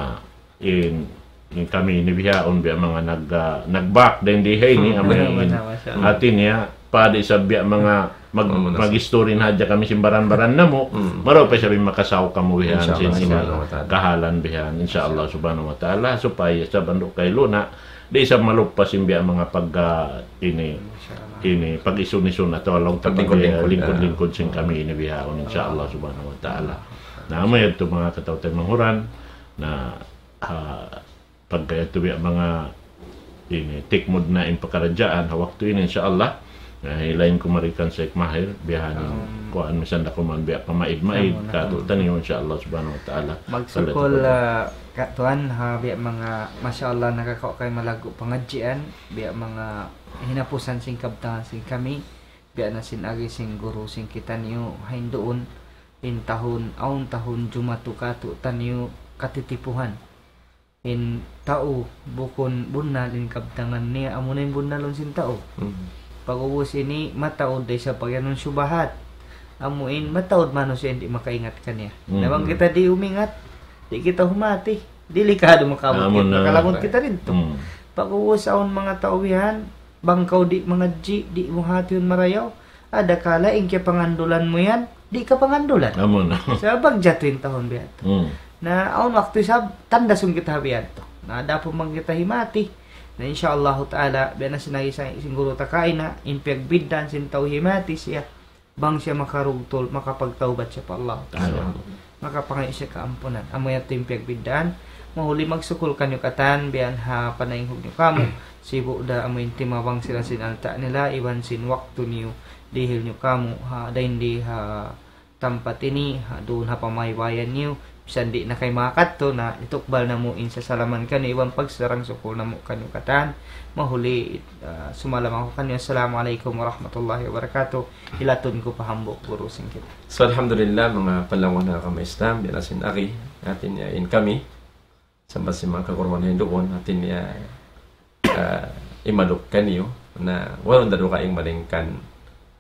in, in kami ini bihaun biya' manga nag-, ah, nagbak dayn di ha ini, Hmm. amu in, Masha Allah. hāti niya, padi sa biya' manga mag, mag-story na hadja kami sin baran-baran namu'. Marayaw pa isab in makasaw kamu bihan sin, sin kahalan bihan, insya Allah subhanahu wa ta'ala, supaya sa' bandu' kay luna, di' isab malupa sin biya' manga pag, ah, ini, ini, pag-isun-isun atawa laung ta pag, ah, lingkud-lingkud sin kami ini bihaun, insya Allah subhanahu wa ta'ala. Na, amu yadtu manga kataw-taymanghuran, na, ah, pagka yadtu biya' manga ini, tikmud na in pakaradjaan, ha waktu ini, insya Allah. Na, hilain ku mari kan Sheikh Mahir, bihaun, kuwan, misan da kuman biya' pamaid-maid, katu'taniyu, insya Allah subhanahu wa ta'ala. Magsukul, ah, ka tuwan, ha, biya' manga, masya Allah, nakakawa' kaw malaggu' pangadjian, biya' manga hinapusan sin kabtangan sin kami, biya' na sin agi sin guru sin kitaniyu, ha hinduun, in tahun, awn tahun jumatu katu'taniyu katitipuhan. In tau, bukun bunnal in kabtangan niya, amu na in bunnalun sin tau. Pag'ubus ini, mataud da isab pagiyanun subahat. Amu in, mataud manusiya' in di' makaingat kaniya. Na bang kita di' umingat, di' kita humati. Delikadu makaabut kita, makalamud kita didtu. Pag'ubus awn manga tau bihan, bang kaw di' mangadji', di' mu hatihun marayaw, adakala in kiyapangandulan mu yan, di' kapangandulan. Amu na. Sabab jatu in tahun biya' yadtu. Na awn waktu isab, tandasun kita biya' yadtu. Na adapun bang kita himati. Na insya Allahu ta'ala, biya' na sin agi sin guru ta kaina, in piyagbiddaan sin tau himati siya. Bang siya makarugtul, makapagtawbat siya pa Allah ta'ala. Makapangayu' siya kaampunan. Amu yadtu in piyagbiddaan. Mahuli magsukul kaniyu katan, biya' ha panaynghug niyu kamu. Sibu' da amu in timabang sila sin alta' nila, iban sin waktu niyu, dihil niyu kamu, ha, dayn di ha tampat ini, ha, duun ha pamaybayan niyu, misan di' na kay makadtu, na itukbal namu' in sasalaman kaniyu, iban pagsarang-sukul namu' kaniyu katan. Mahuli, ah, sumalam aku kaniyu. Assalamu alaykum warahmatullahi wabarakatuh. Hilatun ku pa hambuuk guru sin kita. So, alhamdulillah, manga palangun ha agama Islam, biya' na sin agi, hati niya in kami, sambat sin manga kaguruhan hinduun, hati niya, ah, imaluk kaniyu, na wala' da dugaing malaingkan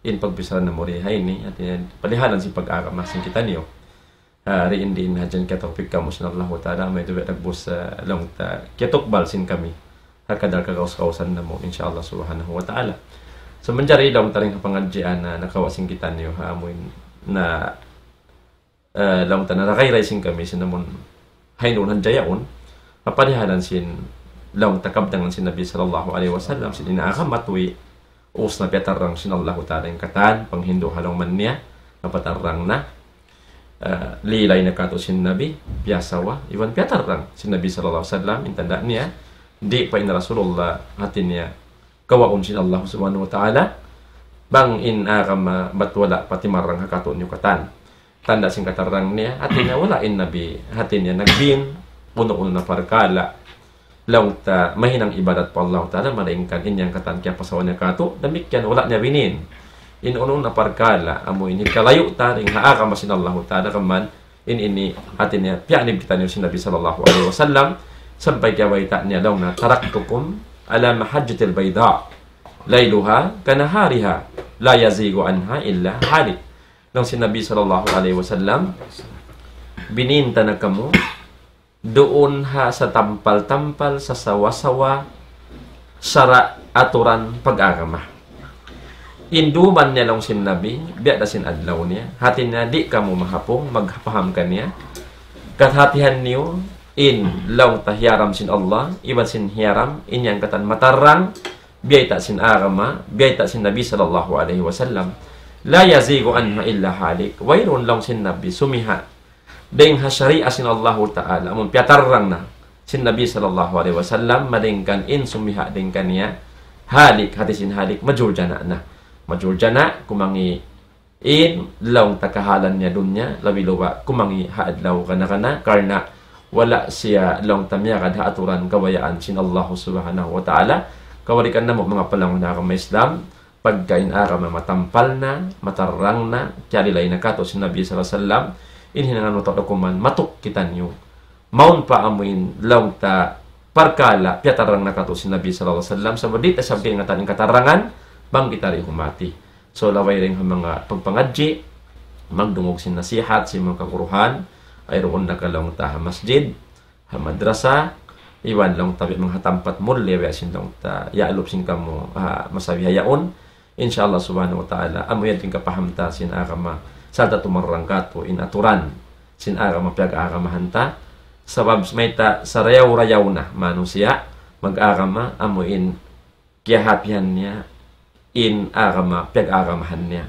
in pagbichara namu' di ha ini, hati niya, palihalan sin pag-agama sin kitaniyu. Ah, di' in, di' in hadja kiyatawpik kamu sin Allahu ta'ala, amu yadtu biya' dagbus, ah, laung ta, kiyatukbal sin kami. Ha kadar kagaus-gausan namu', insya Allah subhanahu wa ta'ala. So, manjari laung ta dayn ha pangadjian na nakawa' sin kitaniyu, ha, amu in, na, eh, laung ta na nagayray sin kami, sin amun, ha hinduun hadja yaun, ha palihalan sin, laung ta kabtangan sin Nabi sallallahu alayhi wasallam, sin in agama tuwi', ubus na piyatarrang sin Allahu ta'ala in katan, panghindu' ha lawm niya, napatarrang na, ah, lilay na katu' sin Nabi, piyasawa, iban piyatarrang sin Nabi sallallahu alayhi wasallam, in tanda' niya, di' pa in Rasulullah, hati niya, kawaun sin Allah subhanahu wa ta'ala, bang in agama bat wala' pa timarrang ha katu' niyu katan. Tanda' sin katarrang niya, hati niya wala' in Nabi, hati niya nagbin, unu-unu na parkala', laung ta mahinang ibadat pa Allahu ta'ala, malaingkan in yan katan kiyapasawa niya katu', damikkiyan wala' niya binin. In unu-unu na parkala', amu in hikalayu' ta dayn ha agama sin Allahu ta'ala, kaman in ini, hati niya, piyanib kitaniyu sin Nabi sallallahu alayhi wasallam, sampay kiyabayta' niya laung niya, تركتكم على المحجة البيضاء ليلها كنهارها لا يزيغ عنها إلا هالك. Laung sin Nabi sallallahu alayhi wasallam, binin ta na kamu, duun ha satampal-tampal, sasawa-sawa, sara' aturan pag-agama. In duman niya laung sin Nabi, biya' da sin adlaw niya. Hati niya, di' kamu mahapung, magpaham kaniya. Kahatihan niyu, in laung ta hiyaram sin Allah, iban sin hiyaram, in yan katan matarrang, biyayta' sin agama, biyayta' sin Nabi sallallahu alayhi wasallam. لا يزيغ عنها إلا هالك. Wayruun laung sin Nabi, sumiha'. Dayn ha sharia sin Allahu ta'ala, amun piyatarrang na sin Nabi sallallahu alayhi wasallam, malaingkan in sumiha' dayn kaniya, halik, hati sin halik, majuljana na. Majuljana, kumangi' in laung ta kahalan niya dunya, labi-labi kumangi' ha adlaw kana-kana, karna' wala' siya laung ta miyagad ha aturan kabayaan sin Allahu subhanahu wa ta'ala. Kabalikan namu' manga palangun ha agama Islam, pagka in agama matampal na, matarrang na, kiyalilay na katu' sin Nabi sallallahu alayhi wasallam, in hinangan mu tau da kuman, matuk kitaniyu. Mawn pa amuin laung ta parkala', piyatarrang na katu' sin Nabi sallallahu alayhi wasallam, sabab di' ta isab kaingatan in katarrangan, bang kita di' humati. So, laway dayn ha manga pagpangadji', magdungug sin nasihat, sin manga kaguruhan, ay duun na ka laung ta ha masjid, ha madrasa, iban laung ta biya' manga ha tampat mulliya biya' sin laung ta, yaalup sin kamu, ha, masa bihaun, Insya Allah subhanahu wa ta'ala, amu yan in kapaham ta sin agama, sarta' tumarang katu' in aturan sin agama piyag-agamahan ta. Sabab mayta' sarayaw-rayaw na manusiya' mag-agama, amu in kiyahatihan niya in agama piyag-agamahan niya.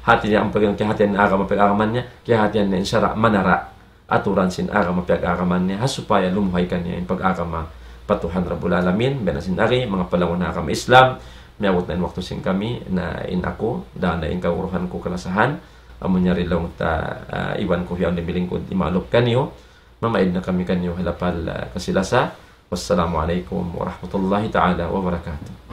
Hati niya, amu pag-, kiyahatihan in agama piyag-agamahan niya, kiyahatihan niya in sara' manara' aturan sin agama piyag-agamahan niya, ha supaya lumuhay kaniya in pag-agama pa Tuhan Rabbul Alamin. Biya' na sin ari, manga palangun ha agama Islam, miyabut na in waktu sin kami, na in aku, dayn ha in kaguruhan ku kalasahan, amu niya ri laung ta, ah, iban ku hiyaun di' bilingkud imalup kaniyu, mamaid na kami kaniyu ha lapal, ah, kasi-lasa. Wassalamu alaykum warahmatullahi ta'ala wabarakatuh.